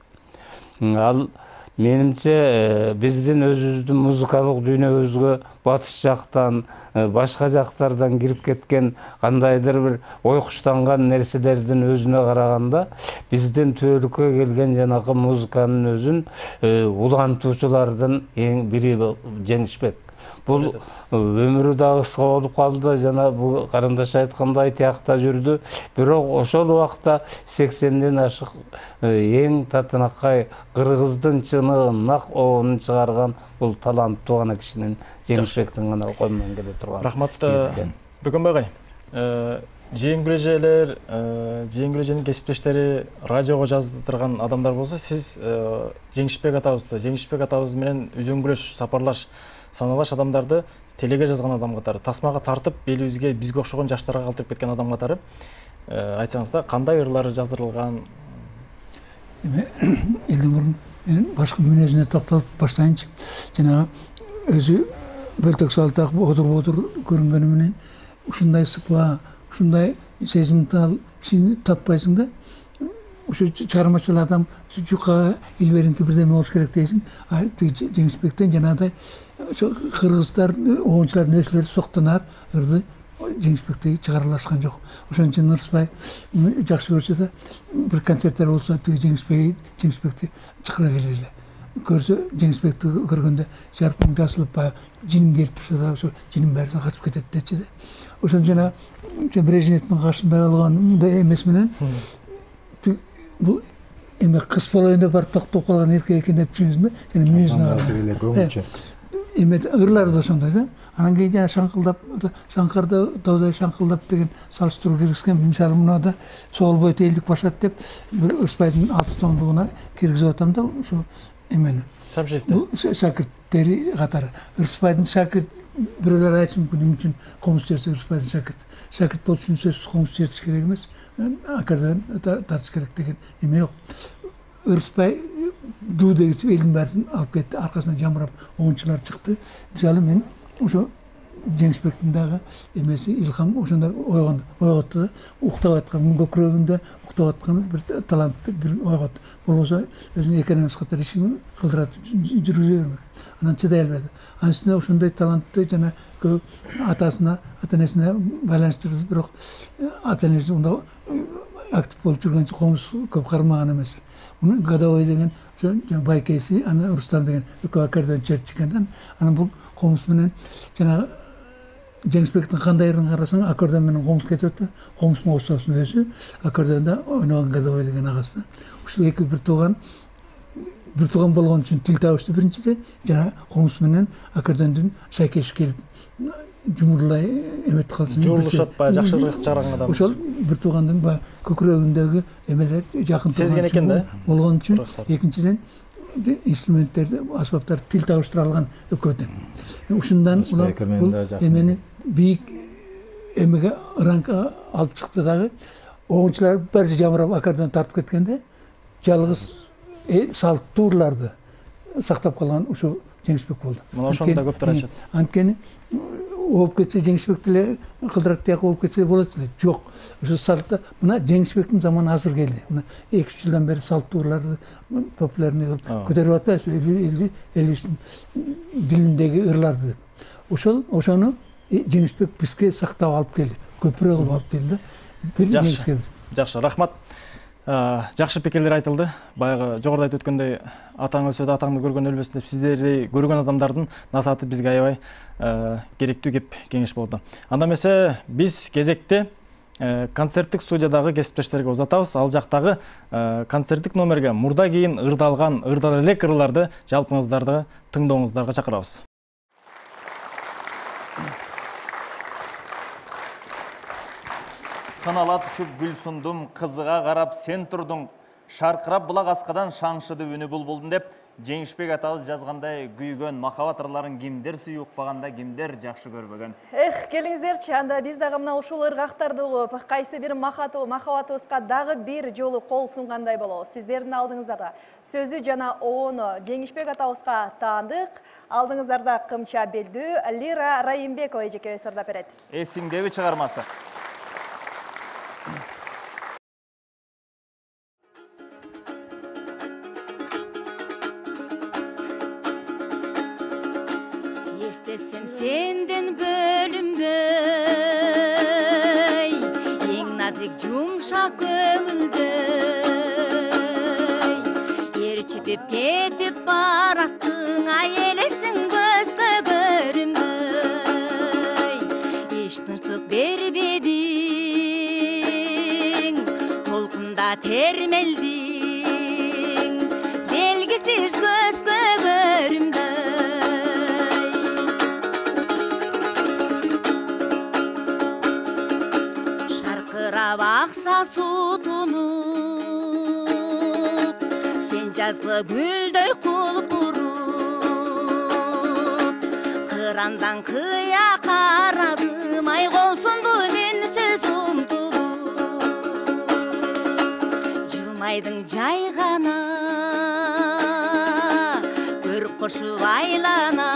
Ал менимче биздин өзүбүздүн музыкалык дүйнөбүзгө батыш жактан, башка жактардан кирип кеткен кандайдыр бир ойкуштанган нерселердин өзүнө караганда биздин түбөлүккө келген жанагы музыканын өзүн улантуучулардын эң бири Жеңишбек. Бул өмүрү дагы кыска болуп калды, жана бул карындаш айткандай тиякта жүрдү. Бирок ошол убакта сексенден ашык эң татынакай кыргыздын чыны нак обонун чыгарган бул таланттуу гана кишинин Жеңишбектин гана колунан келе турган. Рахмат Бөгөнбай агай. Жеңгүл эжелер, жеңгүл эженин кесиптештери радиого жаздырган адамдар болсо, сиз Жеңишбек атабызды, Жеңишбек атабыз менен үзөңгүлөш, сапарлаш, саналаш адамдарды телеге жазган адам катары, тасмага тартып, элибизге бизге окшогон жаштарга калтырып кеткен адам катары айтсаңыз да, кандай ырлары жаздырылган? Эми элден мурун мен башкы мүнөзүнө токтолуп баштайынчы. Жанагы өзү бөлтөк салтак бодур-бодур көрүнгөнү менен ушундай сыпа, ушундай сезимтал кишини таппайсың да. Ушу чыгармачыл адам жука илберинки бирдеме болуш керек дейсиң. А Жеңишбектен жанагыдай кыргыздар, обончулардын өсүлөрү соктонар ырды Жеңишбекте чыгарылашкан жок. Ошон үчүн Ырысбай жакшы көрсө да бир концерттер болсо Жеңишбек Жеңишбекти чакыра келели. Көрсө Жеңишбекти көргөндө жарпың жасылып баягы жиним келип турса да ошо жиним баары качып кетет дечи да. Ошон жана Брежневдин каршында калган мындай эмес менен бул эме кыз болоюн деп барып токтоп калган эркек экен деп түшүнөсүң да. Жана мүнөзүнө карап эме ырлары да ошондой да. Анан кийин жана шаңкылдап, шаңкарда таудай шаңкылдап деген салыштыруу киргизген. Мисалы мынада Соолбой элдик башат деп бир Ырысбайдын алты томдугуна киргизип атам да ушу эмени. Шамшиевди. Шакирттери катары. Ырысбайдын шакирт бирөөлөр айтышы мүмкүн эмне үчүн комуз чертсе Ырысбайдын шакирт. Шакирт болуш үчүн сөзсүз комуз чертиш керек эмес. Аккордеон тартыш керек деген эме жок. Ырысбай дуу дегиз элдин баарын алып кетти, аркасынан жамырап оңчулар чыкты. Мисалы мен ошо Жеңишбектин дагы эмеси илхам ошондо ойгон ойготту да, уктап аткан көкүрөгүндө уктап аткан бир талантты бир ойготту. Болбосо өзүнүн экономист катары ишин кылдырат жүргүзө бермек. Анан чыдай албады. Анын үстүнө ошондой талантты жана көп атасына, ата-энесине байланыштырды, бирок ата-энеси мында актив болуп жүргөн комуз көп кармаган эмес. Муну Годовой деген байкеси, анан Рустам деген экөө аккордеон чертишкен. Анан бул комуз менен жанагы Жеңишбектин кандай ырын карасаң, аккордеон менен комуз кетип атпайбы? Комуздун остосунун өзү аккордеонда ойногон Годовой деген агасы. Ушул эки бир тууган бир тууган болгон үчүн тил табышты биринчиде, жана комуз менен аккордеондун шайкеш келип жумурлай эметип калсын. Журулушат баягы жакшы ыргак чыгарган адам. Ошол бир туугандын баягы көкүрөгүндөгү эмелер жакын сезген экен да. Болгон үчүн экинчиден инструменттерди, аспаптарды тил табыштыра алган экөөдөн. Ушундан улар бул эмени бийик эмеге ранка алып чыкты дагы. Оңчулар баары жамырап аккордеон тартып кеткенде жалгыз салттуу ырларды сактап калган ушу Жеңишбек болду. Мына ошондо көптөр айтышат. Анткени ооп кетсе Жеңишбек деле кылдырат тияк ооп кетсе болот эле. Жок. Ошо салтта мына Жеңишбектин заманы азыр келди. Мына эки үч жылдан бери салттуу ырларды популярный кылып көтөрүп атпайбызбы? Элибиздин дилиндеги ырларды. Ошол ошону Жеңишбек бизге сактап алып келди. Көпүрө кылып алып келди да. Жакшы. Жакшы, рахмат. Жакшы пикирлер айтылды. Баягы жогоруда айтып өткөндөй, атаң өлсө да атаңды көргөн өлбөсүн деп сиздердей көргөн адамдардын насааты бизге аябай керектүү кеп кеңеш болду. Анда эмесе биз кезекте концерттик студиядагы кесиптештерге узатабыз. Ал жактагы концерттик номерге мурда кийин ырдалган, ырдала элек ырларды жалпыңыздарды тыңдооңуздарга чакырабыз. Кынала түшүп гүл сундум, кызыга карап сен турдуң, шаркырап булак аскадан шаңшыды үнү булбулдун деп Жеңишбек атабыз жазгандай күйгөн махабат ырларын кимдер сүйүп укпаганда, кимдер жакшы көрбөгөн. Эх, келиңиздерчи, анда биз дагы мына ушул ыргактарды угуп, кайсы бир махабатыбызга дагы бир жолу кол сунгандай болобуз. Сиздердин алдыңыздарда сөзү жана оону Жеңишбек атабызга таандык. Алдыңыздарда Кымча Белдүү, Лира Райымбекова эжекебиз ырдап берет. Эсиңдеби чыгармасы. Естесем сенден бөлүнбөй, эң назик жумшак көңүлдөй, ээрчитип кетип бараттың, ай элесиң көзгө көрүнбөй, эч тынчтык бербедиң, толкунда термелдиң, белгисиз көзгө көрүнбөй. Акса сутунуп, сен жазгы гүлдөй кулпуруп, кырандан кыя карадым, ай колсунду мүнсүз умтулуп, жылмайдың жай гана, көрүп кошуп айлана,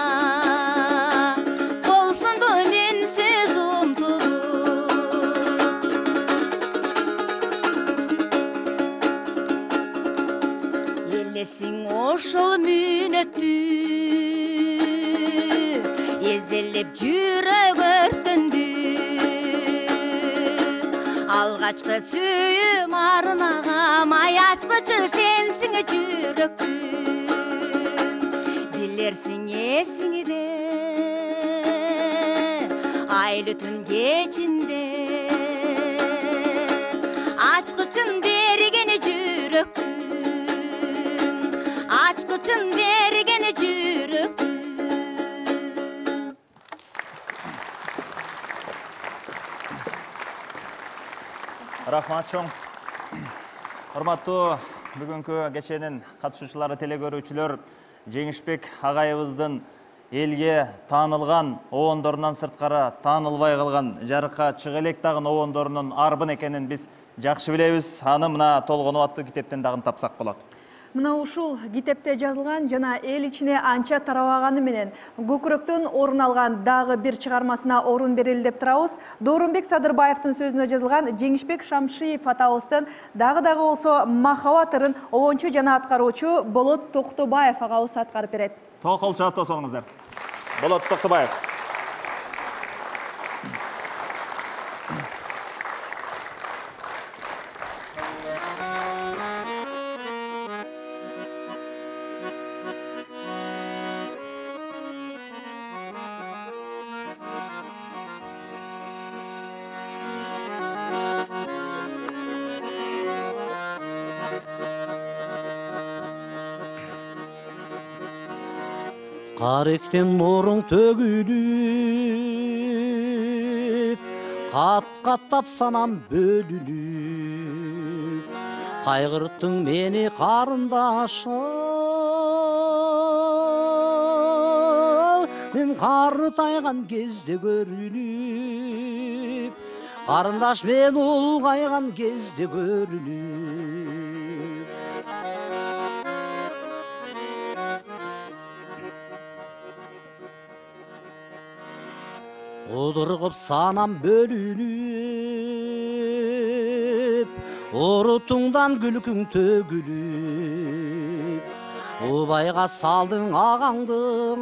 ошол мүнөттү эзелеп жүрөк өртөндү, алгачкы сүйүм арнагам, ай ачкычы сенсиң жүрөктүн, билерсиң эсиңде айлы түн кечинде, ачкычын бергени жүрөктүн, ачкычын бергени жүрөктүн. Рахмат чоң. Урматтуу бүгүнкү кеченин катышуучулары, телекөрүүчүлөр, Жеңишбек агайыбыздын элге таанылган обондорунан сырткары таанылбай калган жарыкка чыга элек дагы обондорунун арбын экенин биз жакшы билебиз. Аны мына толгону аттуу китептен дагы тапсак болот. Мына ушул китепте жазылган жана эл ичине анча тарабаганы менен көкүрөктөн орун алган дагы бир чыгармасына орун берели деп турабыз. Доорунбек Садырбаевдин сөзүнө жазылган Жеңишбек Шамшиев атабыздын дагы дагы болсо махабат ырын обончу жана аткаруучу Болот Токтобаев агабыз аткарып берет. Токолчу атос болуңуздар. Болот Токтобаев. Каректен нуруң төгүлүп, кат-каттап санам бөлүнүп, кайгырттың мени карындашым, мен картайган кезде көрүнүп, карындаш мен улгайган кезде көрүнүп. Одургуп санам бөлүнүп, урутуңдан күлкүң төгүлүп, убайга салдың агаңдың,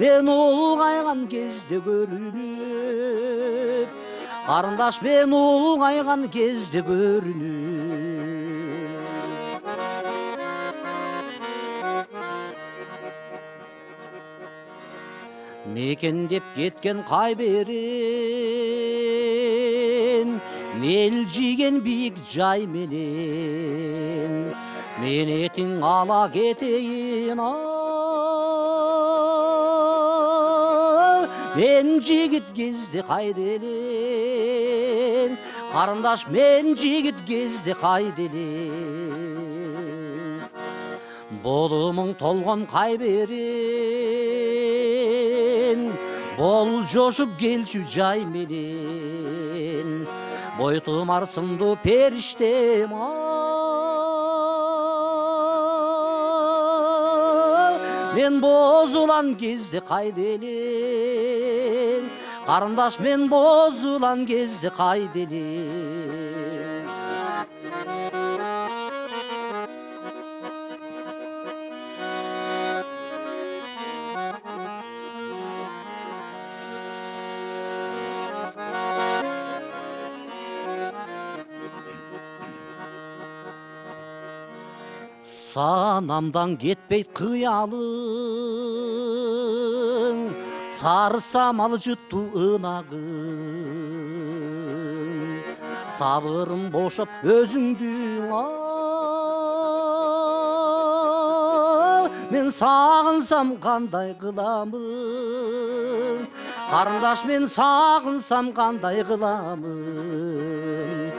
мен улгайган кезде көрүнүп, карындаш мен улгайган кезде көрүнүп. Мекендеп кеткен кайберен, мелжиген бийик жай менен, мен этиң ала кетейин, мен жигит кезде кайда элең, карындаш мен жигит кезде кайда элең, болумуң толгон кайберен, бол жошуп келчү жай менен, бойтумар сындуу периштем, мен бозулан кезде кайда элең, карындаш мен бозулан кезде кайда элең. Санамдан кетпейт кыялың, сары самал жутту ынагың, сабырым бошоп өзүңдүң, мен сагынсам кандай кыламын, карындаш мен сагынсам кандай кыламын,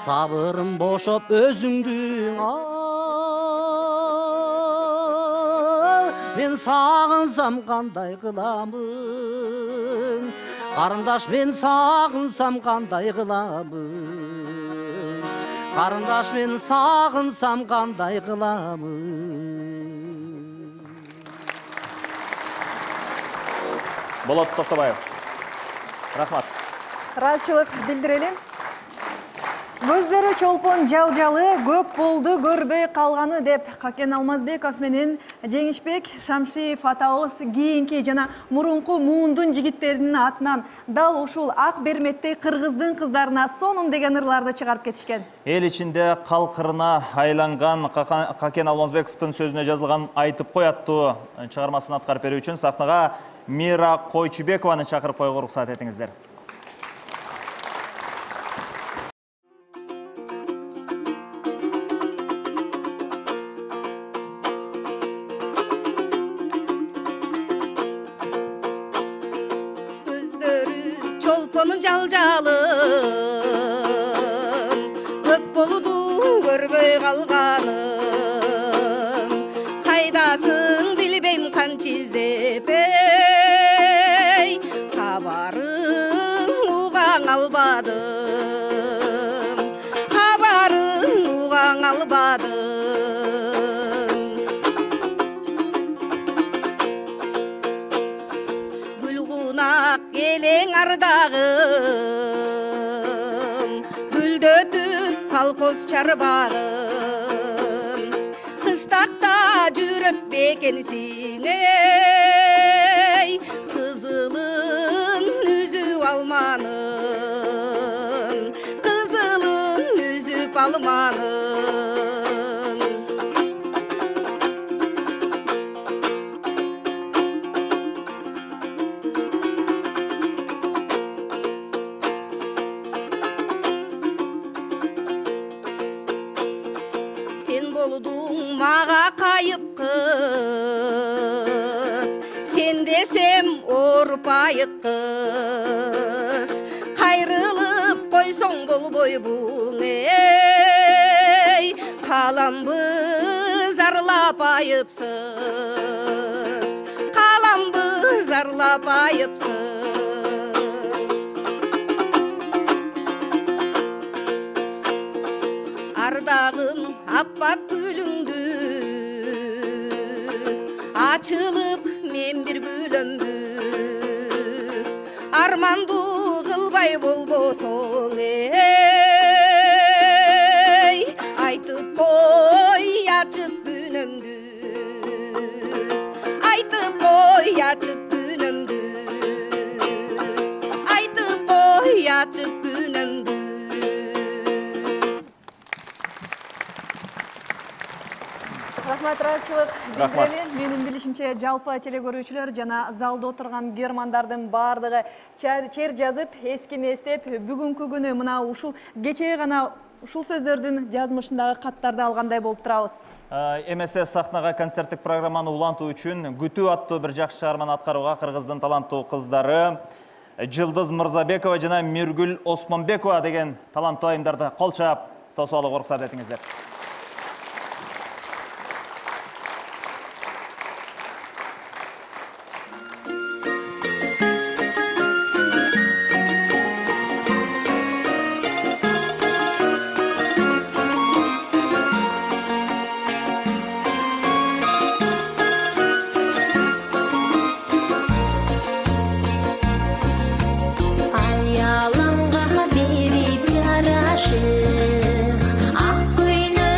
сабырым бошоп өзүңдүң, мен сагынсам кандай кыламын, карындаш мен сагынсам кандай кыламын, карындаш мен сагынсам кандай кыламын. Болот Токтобаев. Рахмат. Ыраазычылык билдирели. Көздөрү чолпон жал-жалы, көп болду көрбөй калганы деп Какен Алмазбеков менен Жеңишбек Шамшиев атабыз кийинки жана мурунку муундун жигиттеринин атынан дал ушул ак берметтей кыргыздын кыздарына сонун деген ырларды чыгарып кетишкен. Эл ичинде калкырына айланган Какен Алмазбековдун сөзүнө жазылган Айтып кой аттуу чыгармасын аткарып берүү үчүн сахнага Мира Койчубекованы чакырып коюуга уруксат этиңиздер. Көздөрү жалпонун жалжалым көп болуду көрбөй калганым кайдасың билбейм канча издеп эй кабарың угаң албадым кабарың угаң албадым элең ардагым гүлдөтүп колхоз чарбагым кыштакта жүрөт экенсиң эй кызылын үзүп алманын кызылын үзүп алманын мага кайып кыз сен десем оорупайык кыз кайрылып койсоң болбойбуң эй каламбы зарлап айыпсыз каламбы зарлап айыпсыз ардагым аппак гүлүңдү ачылып мен бир күлөмбү арманду кылбай болбосоң эй айтып кой ачык күнөмдү айтып кой ачык күнөмдү айтып кой ачык күнөмдү Рахмат, ыраазычылык билдирели. Менин билишимче жалпы теле көрүүчүлөр жана залда отурган көрөрмандардын баардыгы чер жазып, эскини эстеп, бүгүнкү күнү мына ушул кечээ гана ушул сөздөрдүн жазмышындагы каттарды алгандай болуп турабыз. Эмесе сахнага концерттик программаны улантуу үчүн Күтүү аттуу бир жакшы чыгарманы аткарууга Кыргыздын таланттуу кыздары Жылдыз Мырзабекова жана Миргүл Осмонбекова деген таланттуу айымдарды кол чаап тосуп алууга уруксат этиңиздер. Ayalamga berip jarашык ак көйнөк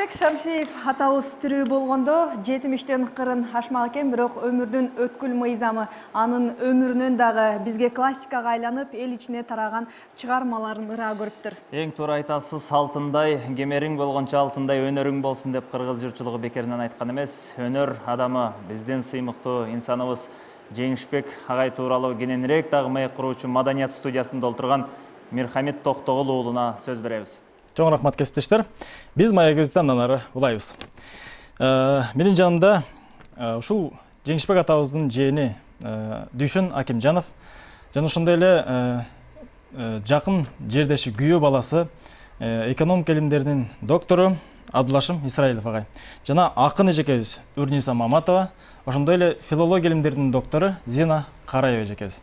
Жеңишбек Шамшиев атабыз тирүү болгондо жетимиштен кырын ашмак экен, бирок өмүрдүн өткүл мыйзамы анын өмүрүнөн дагы бизге классикага айланып, эл ичине тараган чыгармаларын ыраа көрүптүр. Эң туура айтасыз, алтындай, кемериң болгончо алтындай өнөрүң болсун деп кыргыз журтчулугу бекеринен айткан эмес. Өнөр адамы биздин сыймыктуу инсаныбыз Жеңишбек агай тууралуу кененирээк дагы маек куруучу Маданият студиясында отурган Мирхамит Токтогул уулуна сөз беребиз. Чоң рахмат кесиптештер. Биз маегибизди андан ары улайбыз. Менин жанымда ушул Жеңишбек атабыздын жээни Дүйшөн Акимжанов жана ошондой эле жакын жердеши күйөө баласы экономика илимдеринин доктору Абдулашым Исраилов агай жана акын эжекебиз Үрниса Маматова, ошондой эле филология илимдеринин доктору Зина Караева эжекебиз.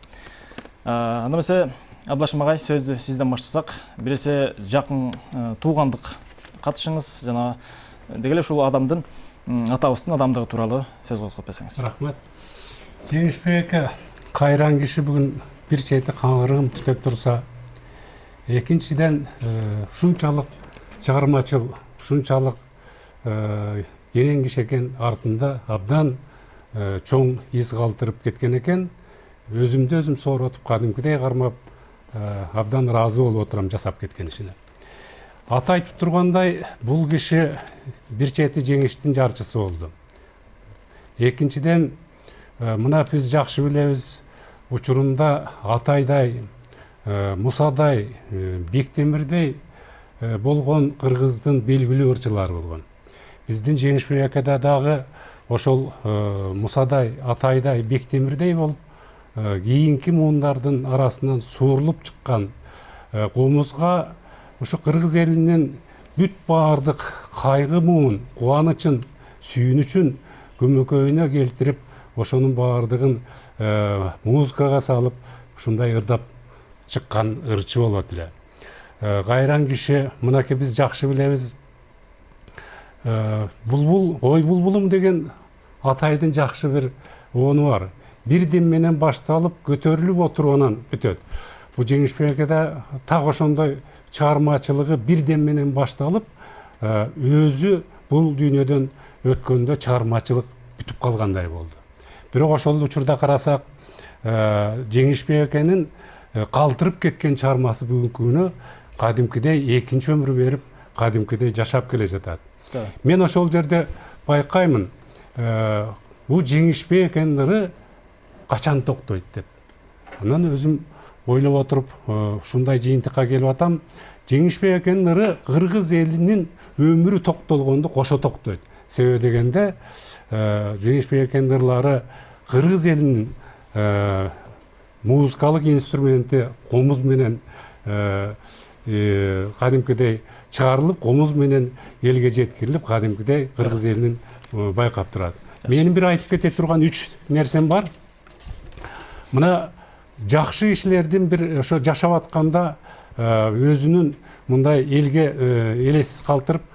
Анда эмесе Абдулашым агай, сөздү сизден баштасак, биресе жакын туугандык катышыңыз жана деги эле ушул адамдын атабыздын адамдыгы тууралуу сөз козгоп берсеңиз. Рахмат. Жеңишбек кайран киши бүгүн бир чети каңгырыгым түтөп турса, экинчиден ушунчалык чыгармачыл, ушунчалык кенен киши экен, артында абдан чоң из калтырып кеткен экен. Өзүмдү өзүм сооротуп кадимкидей кармап абдан ыраазы болуп отурам жасап кеткен ишине. Ата айтып тургандай, бул киши бир чети жеңиштин жарчысы болду. Экинчиден, мына биз жакшы билебиз, учурунда Атайдай, Мусадай, Бектемирдей болгон кыргыздын белгилүү ырчылары болгон. Биздин Жеңишбек акада дагы ошол Мусадай, Атайдай, Бектемирдей болуп, кийинки муундардын арасынан суурулуп чыккан комузга ушу кыргыз элинин бүт баардык кайгы муун, кубанычын, сүйүнүчүн көмөкөйүнө келтирип, ошонун баардыгын музыкага салып, ушундай ырдап чыккан ырчы болот эле. Кайран киши, мынакей биз жакшы билебиз, булбул, ой булбулум деген Атайдын жакшы бир ону бар. Бир дем менен башталып, көтөрүлүп отуруп бүтөт. Бул Жеңишбек акада так ошондой чыгармачылыгы бир дем менен башталып, өзү бул дүйнөдөн өткөндө чыгармачылык бүтүп калгандай болду. Бирок ошол учурда карасак, Жеңишбек аканын калтырып кеткен чыгармасы бүгүнкү күнү кадимкидей экинчи өмүр берип, кадимкидей жашап келе жатат. Мен ошол жерде байкаймын, бул Жеңишбек аканын ыры качан токтойт деп. Анан өзүм ойлоп отуруп, ушундай жыйынтыкка келип атам. Жеңишбек аканын ыры кыргыз элинин өмүрү токтолгондо кошо токтойт. Себеби дегенде, Жеңишбек аканын ырлары кыргыз элинин музыкалык инструменти комуз менен кадимкидей чыгарылып, комуз менен элге жеткирилип, кадимкидей кыргыз элинин байкап турат. Менин бир айтып кете турган үч нерсем бар. Мына жакшы кишилердин бир ошо жашап атканда өзүнүн мындай элге элессиз калтырып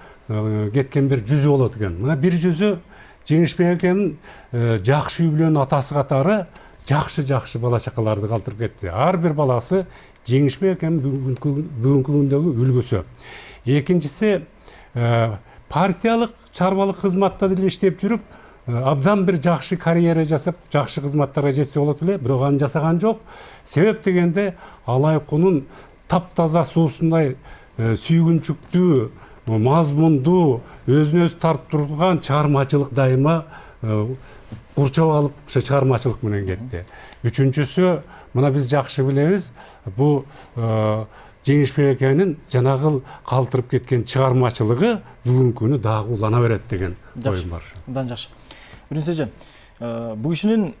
кеткен бир жүзү болот экен. Мына бир жүзү Жеңишбек аканын жакшы үй бүлөнүн атасы катары жакшы-жакшы бала чакаларды калтырып кетти. Ар бир баласы Жеңишбек аканын бүгүнкү күндөгү үлгүсү. Экинчиси, партиялык, чарбалык кызматта деле иштеп жүрүп, абдан бир жакшы карьера жасап, жакшы кызматтарга жетсе болот эле, бирок аны жасаган жок. Себеп дегенде, алайкунун таптаза суусундай сүйгүнчүктүү, мазмундуу, өзүнө өзү тартып турган чыгармачылык дайыма курчап алып, ошо чыгармачылык менен кетти. Үчүнчүсү, мына биз жакшы билебиз, бул Жеңишбек аканын жанагыл калтырып кеткен чыгармачылыгы бүгүнкү күнү дагы улана берет деген оюм бар. Абдан жакшы. Үрүнсө эже, бул кишинин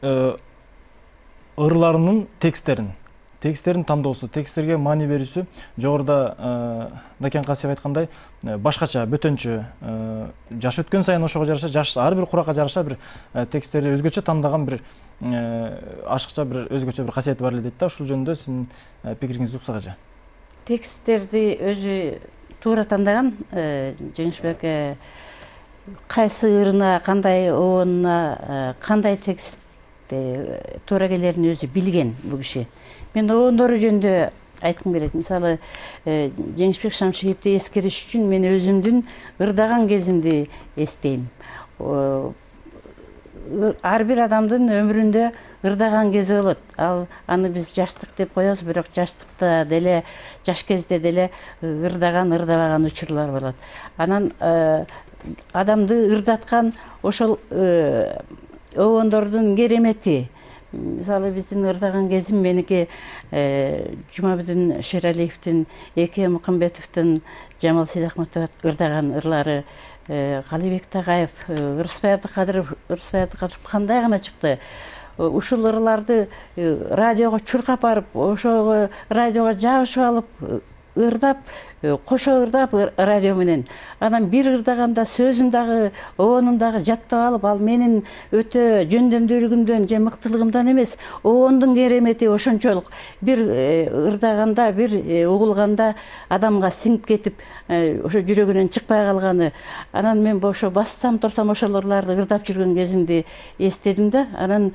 ырларынын тексттерин, тексттерин тандоосу, тексттерге маани берүүсү жогоруда Накен Касиев айткандай башкача, бөтөнчө, жаш өткөн сайын ошого жараша, жаш ар бир куракка жараша бир тексттерди өзгөчө тандаган бир ашыкча бир өзгөчө бир касиети бар эле дейт да. Ушул жөнүндө сиздин пикириңизди уксак эже. Тексттерди өзү туура тандаган, Жеңишбек кайсы ырына, кандай оонуна, кандай текст туура келерин өзү билген бул киши. Мен оондору жөнүндө айткым келет. Мисалы, Жеңишбек Шамшиевди эскериш үчүн мен өзүмдүн ырдаган кезимди эстейм. Ар бир адамдын өмүрүндө ырдаган кези болот. Ал аны биз жаштык деп коебуз, бирок жаштыкта деле, жаш кезде деле ырдаган, ырдабаган учурлар болот. Анан адамды ырдаткан ошол обондордун керемети. Мисалы, биздин ырдаган кезим меники Жумабүдүн Шералиевдин, Эке Мукамбетовдун, Жамал Сейдахматов ырдаган ырлары, Калыбек Тагаев, Ырысбай Абдыкадыров, Ырысбай Абдыкадыров кандай гана чыкты. Ушул ырларды радиого чуркап барып, ошого радиого жабышып алып, ырдап, кошо ырдап радио менен. Анан бир ырдаганда сөзүн дагы, обонун дагы жаттап алып, ал менин өтө жөндөмдүүлүгүмдөн же мыктылыгымдан эмес, обондун керемети ошончолук. Бир ырдаганда, бир угулганда адамга сиңип кетип, ошо жүрөгүнөн чыкпай калганы. Анан мен ошо бассам, турсам ошол ырларды ырдап жүргөн кезимди эстедим да. Анан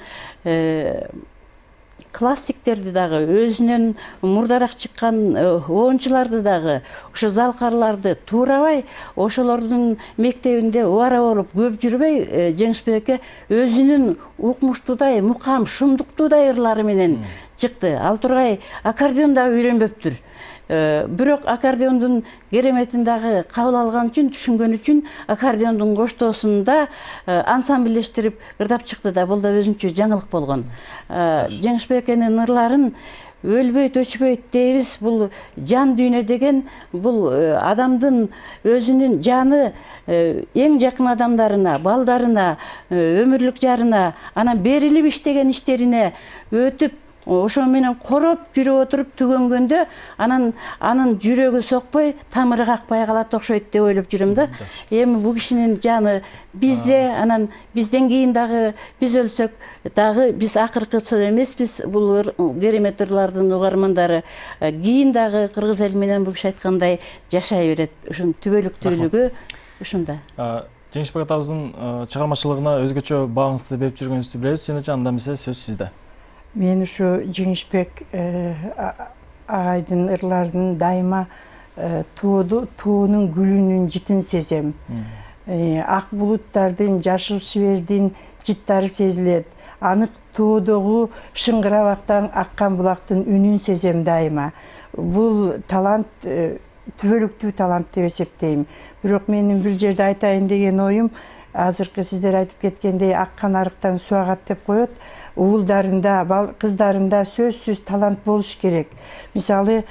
классиктерди дагы, өзүнөн мурдараак чыккан оончуларды дагы, ошо залкарларды туурабай, ошолордун мектебинде убара болуп көп жүрбөй, Жеңишбек эке өзүнүн укмуштуудай, мукам, шумдуктуудай ырлары менен чыкты. Ал тургай аккордеон дагы үйрөнбөптүр. Бирок аккордеондун кереметин дагы кабыл алган үчүн, түшүнгөн үчүн аккордеондун коштоосунда ансамбльдештирип ырдап чыкты да. Бул да өзүнчө жаңылык болгон. Жеңишбек экенин ырларын өлбөйт, өчпөйт дейбиз. Бул жан дүйнө деген, бул адамдын өзүнүн жаны эң жакын адамдарына, балдарына, өмүрлүк жарына, анан берилип иштеген иштерине өтүп, ошо менен короп жүрүп отуруп түгөнгөндө, анан анын жүрөгү сокпой, тамыры какпай калат окшойт деп ойлоп жүрөм да. Эми бул кишинин жаны бизде, анан бизден кийин дагы биз өлсөк дагы биз акыркысы эмеспиз. Бул керемет ырлардын угармандары кийин дагы кыргыз эли менен бул киши айткандай жашай берет. Ушунун түбөлүктүүлүгү ушунда. Жеңишбек атабыздын чыгармачылыгына өзгөчө багыңызды берип жүргөнүңүздү билебиз. Сенечи анда эмесе сөз сизде. Мен ушу Жеңишбек агайдын ырларын дайыма туунун гүлүнүн житин сезем. Ак булуттардын, жашыл шибердин жыттары сезилет. Анык тоодогу шыңгырабактан аккан булактын үнүн сезем дайыма. Бул талант, түбөлүктүү талант деп эсептейм. Бирок менин бир жерде айтайын деген оюм, азыркы сиздер айтып кеткендей аккан арыктан суу агат деп коет. Уулдарында, кыздарында сөзсүз талант болуш керек. Мисалы,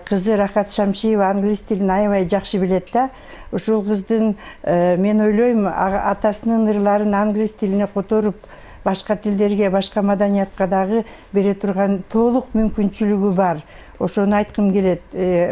кызы Рахат Шамшиева англис тилин аябай жакшы билет да. Ушул кыздын, мен ойлойм, атасынын ырларын англис тилине которуп, башка тилдерге, башка маданиятка дагы бере турган толук мүмкүнчүлүгү бар. Ошону айткым келет.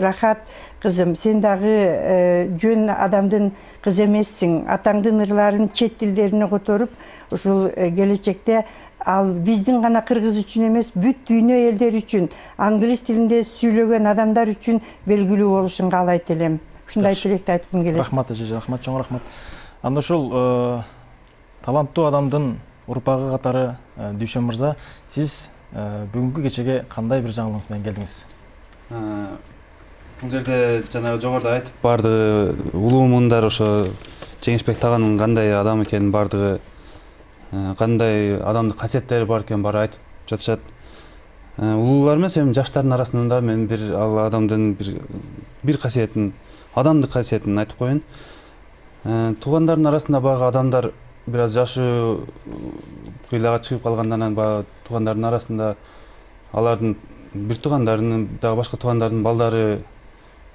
Рахат кызым, сен дагы жөн адамдын кызы эмессиң. Атаңдын ырларын чет тилдерине которуп, ушул келечекте ал биздин гана кыргыз үчүн эмес, бүт дүйнө элдери үчүн, англис тилинде сүйлөгөн адамдар үчүн белгилүү болушун каалайт элем. Ушундай тилекти айткым келет. Рахмат эже, рахмат, чоң рахмат. Анда ушул таланттуу адамдын урпагы катары Дүйшөн мырза, сиз бүгүнкү кечеге кандай бир жаңылыгыңыз менен келдиңиз? Бул жерде жана жогоруда айтып барды, улуу муундар ошо Жеңишбек таганын кандай адам экенин, бардыгы кандай адамдык касиеттери бар экенин баары айтып жатышат. Улуулар эмес, эми жаштардын арасында мен бир ал адамдын бир бир касиетин, адамдык касиетин айтып коеюн. Туугандардын арасында багы адамдар бир аз жашы кыйлага чыгып калгандан анан баягы туугандардын арасында алардын бир туугандарынын дагы башка туугандардын балдары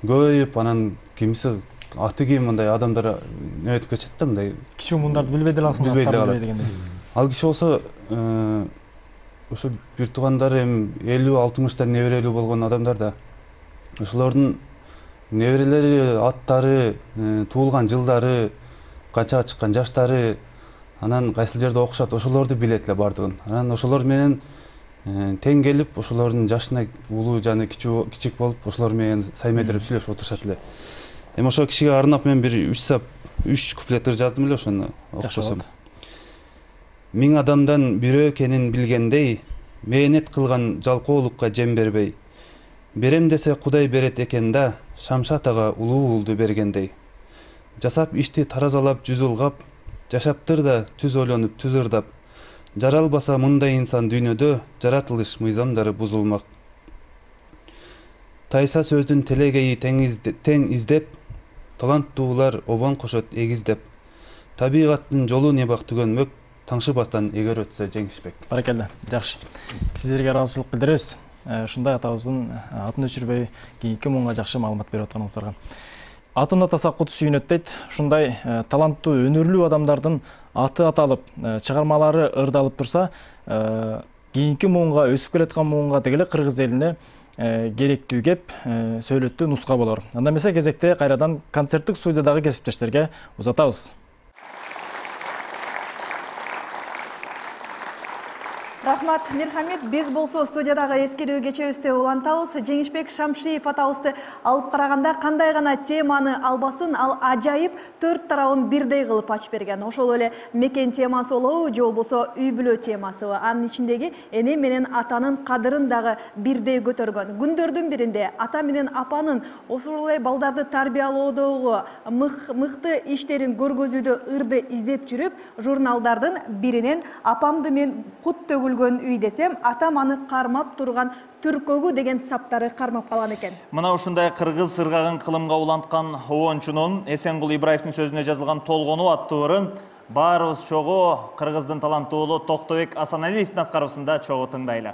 көбөйүп, анан кимиси аты ким мындай адамдар өтүп кетишет да, мындай кичүү мундарды билбей деле алсың, билбей дегендей. Ал киши болсо ошо бир туугандары эми элүү алтымышта неберелүү болгон адамдар да. Ошолордун неберелери, аттары, туулган жылдары, канчага чыккан жаштары, анан кайсыл жерде окушат, ошолорду билет эле бардыгын. Анан ошолор менен тең келип, ошолордун жашына улуу жана кичик болуп, ошолор менен саймедирип сүйлөшүп отурушат эле. Эми ошол кишиге арнап мен бир үч сап, үч куплет ыр жаздым эле, ошону окушсам. Миң адамдан бирөө экенин билгендей, мээнет кылган жалкоолукка жем бербей, Берем десе Кудай берет экен да, Шамшат ага улуу уулду бергендей. Жасап ишти таразалап жүз ылгап, жашаптыр да түз ойлонуп түз ырдап. Жаралбаса мындай инсан дүйнөдө, жаратылыш мыйзамдары бузулмак. Тайса сөздүн телегейи тең издеп, таланттуулар обон кошот эгиздеп. Табигаттын жолу не бак түгөнмөк, таңшыбастан эгер өтсө жеңишпек. Баракелде, жакшы. Сиздерге ыраазычылык билдиребиз. Ушундай атабыздын атын өчүрбөй кийинки муңга жакшы маалымат берип атканыңыздарга. Атын атаса кут сүйүнөт дейт. Ушундай таланттуу, өнөрлүү адамдардын аты аталып, чыгармалары ырдалып турса, кийинки муңга, өсүп келаткан муңга дегеле кыргыз элине керектүү кеп, сөйлөттүү нуска болор. Анда эмесе кезекте кайрадан концерттик студиядагы кесиптештерге узатабыз. Рахмат, Мирхамед, биз болсо студиядагы эскерүү кечебизде улантабыз. Жеңишбек Шамшиев атабызды алып караганда кандай гана теманы албасын, ал ажайып төрт тарабын бирдей кылып ачып берген. Ошол эле мекен темасы болобу, же болбосо үй бүлө темасыбы. Анын ичиндеги эне менен атанын кадырын дагы бирдей көтөргөн. Күндөрдүн биринде ата менен апанын ошол эле балдарды тарбиялоодогу мыкты иштерин көргөзүүдө ырды издеп жүрүп, журналдардын биринен апамды мен кут төгүл үй десем, атам аны кармап турган түркөгү деген саптары кармап калган экен. Мына ушундай кыргыз ыргагын кылымга уланткан обончунун Эсенгул Ибраевдин сөзүнө жазылган Толгонуу аттуу ырын баарыбыз чогуу кыргыздын таланттуулу Токтобек Асаналиевдин аткаруусунда чогуу тыңдайлы.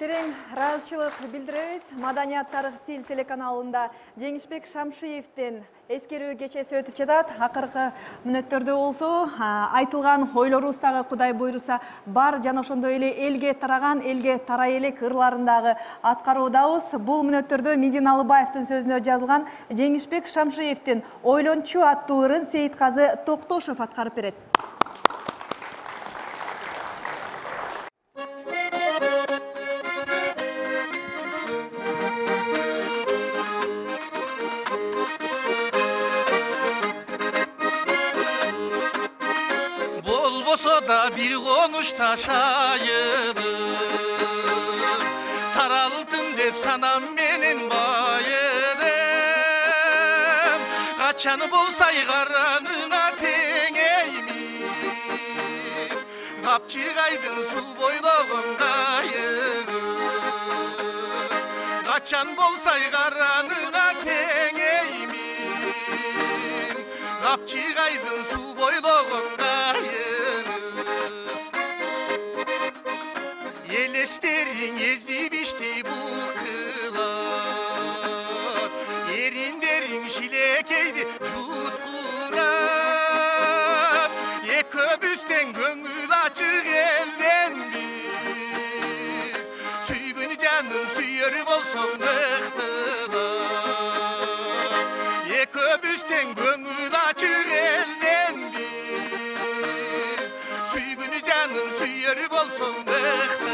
Терең ыраазычылык билдиребиз. Маданият тарых тил телеканалында Жеңишбек Шамшиевдин эскерүү кечеси өтүп жатат. Акыркы мүнөттөрдө болсо айтылган ойлорубуз дагы Кудай буйруса бар жана ошондой эле элге тараган, элге тарай элек ырларындагы аткаруудабыз. Бул мүнөттөрдө Медин Алыбаевдин сөзүнө жазылган Жеңишбек Шамшиевдин Ойлончу аттуу ырын Сейитказы Токтошов аткарып берет. Da bir konuşta şayılır Saraltın dep sanam menin bayıdım Kaçanı bolsay karanına tengeymi Kapçıgaydın su boyloğun kayını Kaçan bolsay karanına tengeymi Kapçıgaydın su boyloğun kayını Yelesterin ezip içti bu kılar Yerinderin şilekeydi jutkurar Ye köbüsten gönül açık elden bir Süygün canım süyörüp olsun ıhtılar Ye köbüsten gönül açık elden bir Süygün canım süyörüp olsun ıhtılar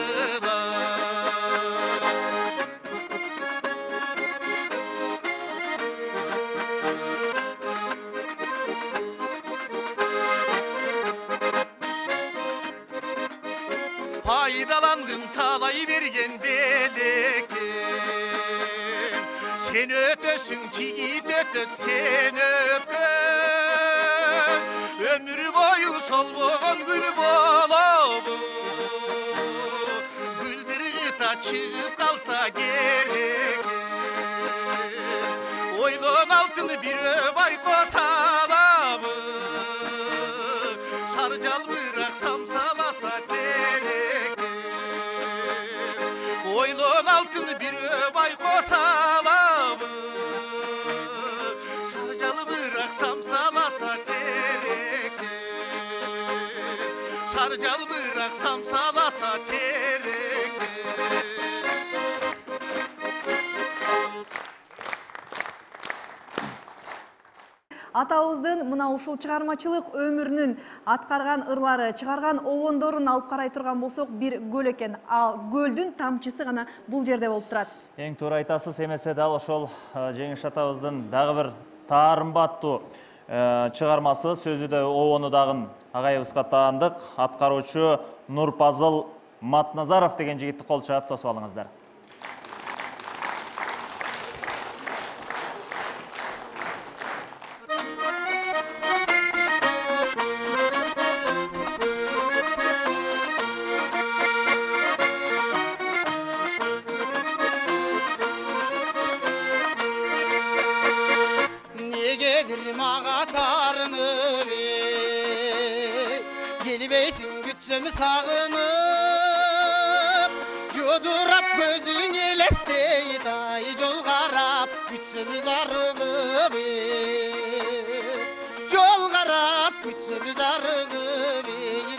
Faydalandın talay vergen belekten Sen ötösün çiğit ötöt sen öpkön Ömür boyu sol boğan gül boğlamı Güldür gıta çıkıp kalsa gerek Oylon altını bir öbay kosalamı Sarcal bıraksam salasa terek Oylon altını bir öbay kosalamı Sarcalı bıraksam salasa terek Sarcal bıraksam salasa terek Атабыздын мына ушул чыгармачылык өмүрүнүн аткарган ырлары, чыгарган обондорун алып карай турган болсок, бир көл экен. Ал көлдүн тамчысы гана бул жерде болуп турат. Эң туура айтасыз, эмесе дал ошол Жеңиш атабыздын дагы бир таарымбаттуу чыгармасы, сөзү да обону дагы агайыбызга таандык. Аткаруучу Нурпазыл Матназаров деген жигитти кол чаап тосуп алыңыздар. Sağınıp Jodurap gözün elesteydi ay Jol qarap bütsümüz arığıp Jol qarap bütsümüz arığıp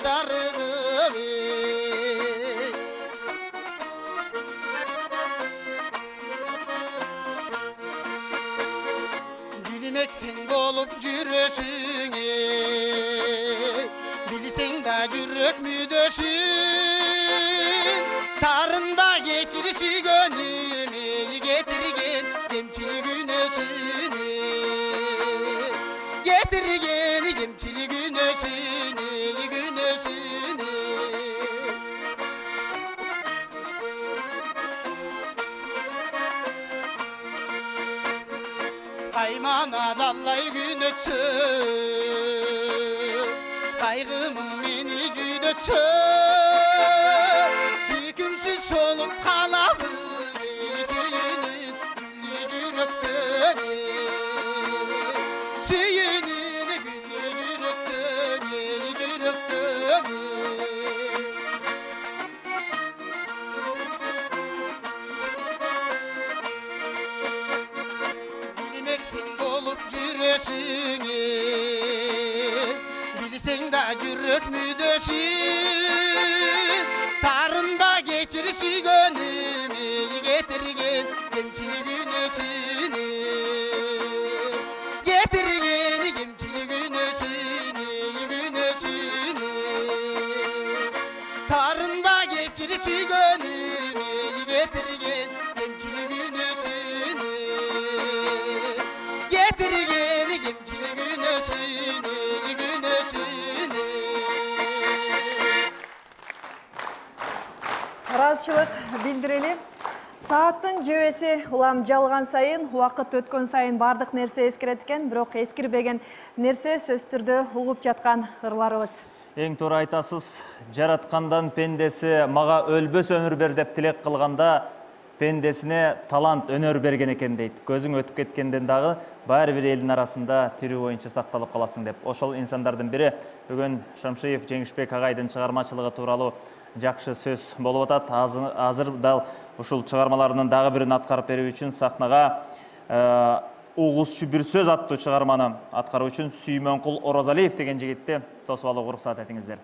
Arığıp Gülmeksin bolup jürösün Bilsen da jürök müdösün Tarınba geçir sügönümü Getirgen gemçili günösünü Getirgen gemçili günösünü Günösünü Kaymana dallay gün ötsün Kaygımın beni cüdötsün Sükümsüz solup kalabım Süyünün güllü cüröktönü Süyünün güllü cüröktönü Cüröktönü жүрөк мүдөсүн тарынба кечир сүйгөнүмө кетирген кемчилик үнөсүнө кетирген кемчилик үнөсүнө үнөсүнө тарынба кечир сүйгөнүмө кетирген кемчилик үнөсүнө кетирген кемчилик үнөсүнө үнөсүнө ыраазычылык билдирели. Сааттын жебеси улам жалган сайын, убакыт өткөн сайын бардык нерсе эскерет экен, бирок эскирбеген нерсе сөзсүз түрдө угуп жаткан ырларыбыз. Эң туура айтасыз, жараткандан пендеси мага өлбөс өмүр бер деп тилек кылганда пендесине талант, өнөр берген экен дейт. Көзүң өтүп кеткенден дагы баары бир элдин арасында тирүү боюнча сакталып каласың деп. Ошол инсандардын бири бүгүн Шамшиев Жеңишбек агайдын чыгармачылыгы тууралуу жакшы сөз болуп атат. Азыр дал ушул чыгармаларынын дагы бирин аткарып берүү үчүн сахнага угузчу бир сөз аттуу чыгарманы аткаруу үчүн Сүймөнкул Орозалиев деген жигитти тосуп алууга уруксат этиңиздер.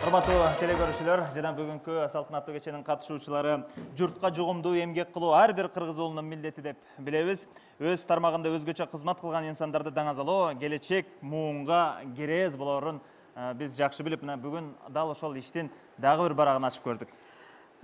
Урматтуу телекөрүүчүлөр, жана бүгүнкү салтанаттуу кеченин катышуучулары, журтка жугумдуу эмгек кылуу ар бир кыргыз уулунун милдети деп билебиз. Өз тармагында өзгөчө кызмат кылган инсандарды даңазалоо келечек муунга керез болорун биз жакшы билип, бүгүн дал ошол иштин дагы бир барагын ачып көрдүк.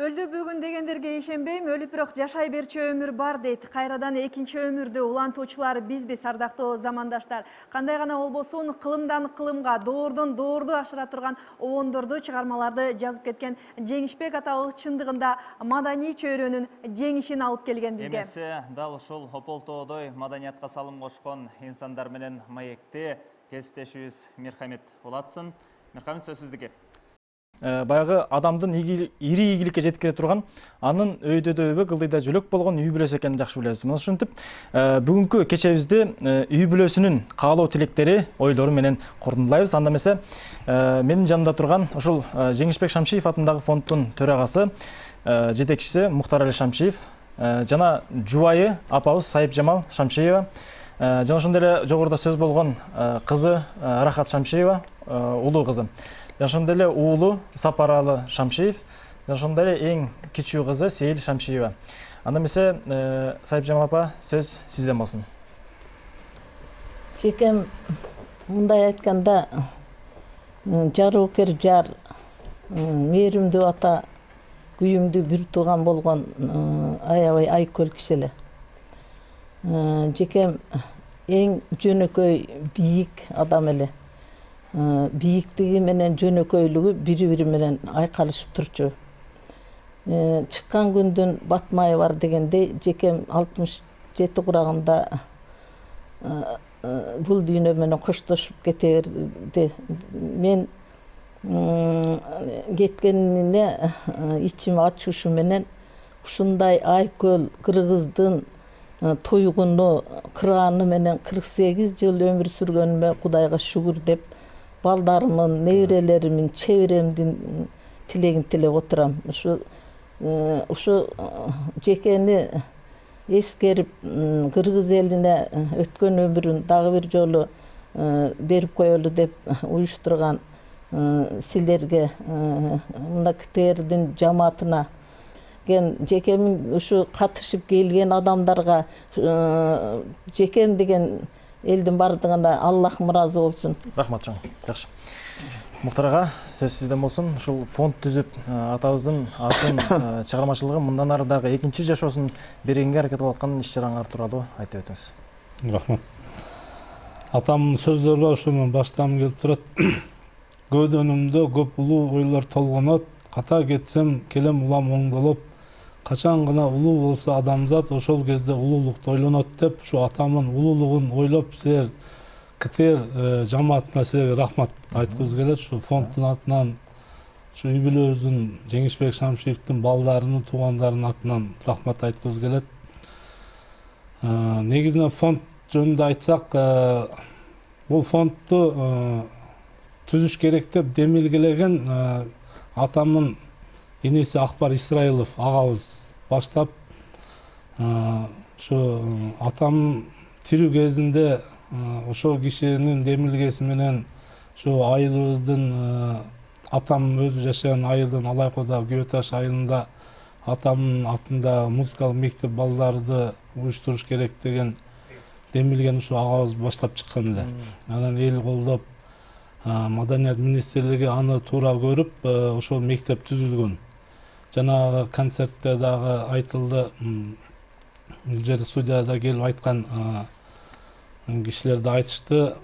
Өлдү бүгүн дегендерге ишенбейм, өлүп бирок жашай берчү өмүр бар дейт. Кайрадан экинчи өмүрдү улантуучулар бизбиз, ардактуу замандаштар. Кандай гана болбосун, кылымдан кылымга, доордон доорду ашыра турган обондорду, чыгармаларды жазып кеткен Жеңишбек атабыз чындыгында маданий чөйрөнүн жеңишин алып келген бизге. Эмесе, дал ушул Ополтоодой маданиятка салым кошкон инсандар менен маекти кесиптешибиз Мирхамет Булатсын. Мирхамет, сөз сиздики. Баягы адамдын ири ийгиликке жеткире турган, анын өйдөдө өбө, кылдыйда жөлөк болгон үй бүлөсү экенин жакшы билебиз. Мына ушинтип, бүгүнкү кечебизди үй бүлөсүнүн каалоо тилектери, ойлору менен кордондолойбуз. Анда эмесе, менин жанымда турган ушул Жеңишбек Шамшиев атындагы фонддун төрагасы, жетекчиси Мухтар Али Шамшиев, жана жубайы апабыз Сайыпжамал Шамшиева, жана ошондой эле жогоруда сөз болгон кызы Рахат Шамшиева, улуу кызы. Ошондой эле уулу Сапаралы Шамшиев, ошондой эле эң кичүү кызы Сейил Шамшиева. Анда эмесе, Сайыпжамал апа, сөз сизден болсун. Жекем, мындай айтканда, жароокер жар, мээримдүү ата, күйүмдүү бир тууган болгон аябай айкөл киши эле. Жекем эң жөнөкөй бийик адам эле. Бийиктиги менен жөнөкөйлүгү бири-бири менен айкалышып турчу. Чыккан күндүн батмайы бар дегендей, жекем алтымыш жети курагында бул дүйнө менен коштошуп кете берди. Мен кеткенине ичим ачушу менен ушундай айкөл кыргыздын туйгуну, кыраны менен кырк сегиз жыл өмүр сүргөнүмө Кудайга шүгүр деп, балдарымын, неберелеримин, чеберемдин тилегин тилеп отурам. Ушу ушу жекени эскерип, кыргыз элине өткөн өмүрүн дагы бир жолу берип коелу деп уюштурган силерге, мына КТРдин жамаатына, жекемин ушу катышып келген адамдарга, жекем деген элдин бардыгына Аллах ыраазы болсун. Рахмат чоң. Жакшы. Мухтар ага, сөз сизден болсун. Ушул фонд түзүп, атабыздын атын, чыгармачылыгын мындан ары дагы экинчи жашоосун бергенге аракет кылып аткан иш-чараңар тууралуу айтып өтүңүз. Рахмат. Атамдын сөздөрү бар, ошону баштагым келип турат. Көдөнүмдө көп улуу ойлор толгонот, ката кетсем келем улам оңдолоп, качан гана улуу болсо адамзат, ошол кезде улуулукту ойлонот деп, ушу атамдын улуулугун ойлоп, силер КТР жамаатына силерге рахмат айткыбыз келет. Ушу фонддун атынан, ушу үй бүлөбүздүн Жеңишбек Шамшиевдин балдарынын, туугандарынын атынан рахмат айткыбыз келет. Негизинен фонд жөнүндө айтсак, бул фондду түзүш керек деп демилгелеген атамдын иниси Акбар Исраилов агабыз баштап, ушу атам тирүү кезинде ошол кишинин демилгеси менен ушу айылыбыздын, атам өзү жашаган айылдын Алайкода Күйө Таш айылында атамдын атында музыкалык мектеп балдарды уюштуруш керек деген демилген ушу агабыз баштап чыккан эле. Анан эл колдоп, Маданият министрлиги аны туура көрүп, ошол мектеп түзүлгөн. Жанагы концертте дагы айтылды, бул жерде студияда келип айткан кишилер да айтышты,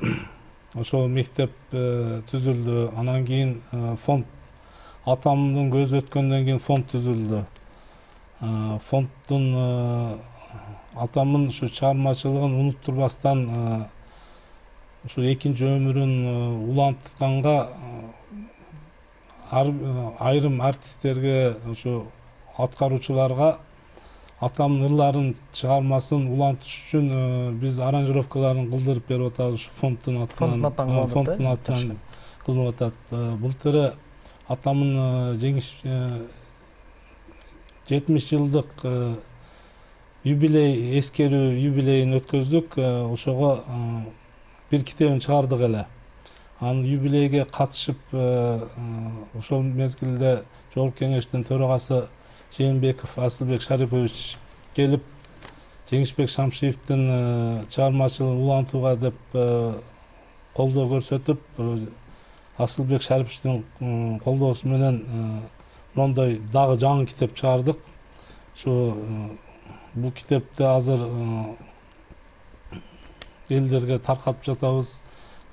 ошол мектеп түзүлдү. Анан кийин фонд, атамдын көзү өткөндөн кийин фонд түзүлдү. Фонддун атамдын ушу чыгармачылыгын унуттурбастан ушу экинчи өмүрүн улантканга айрым артисттерге, ушу аткаруучуларга атамдын ырларын, чыгармасын улантыш үчүн биз аранжировкаларын кылдырып берип атабыз. Ушу фонддун атынан, фонддун атынан кылынып атат. Былтыры атамдын жеңиш жетимиш жылдык юбилей, эскерүү юбилейин өткөздүк. Ошого бир китебин чыгардык эле. Анын юбилейге катышып, ошол мезгилде Жогорку Кеңештин төрагасы Жээнбеков Асылбек Шарипович келип, Жеңишбек Шамшиевдин чыгармачылыгын улантууга деп колдоо көрсөтүп, Асылбек Шариповичтин колдоосу менен мондой дагы жаңы китеп чыгардык. Ушу бул китепти азыр элдерге таркатып жатабыз,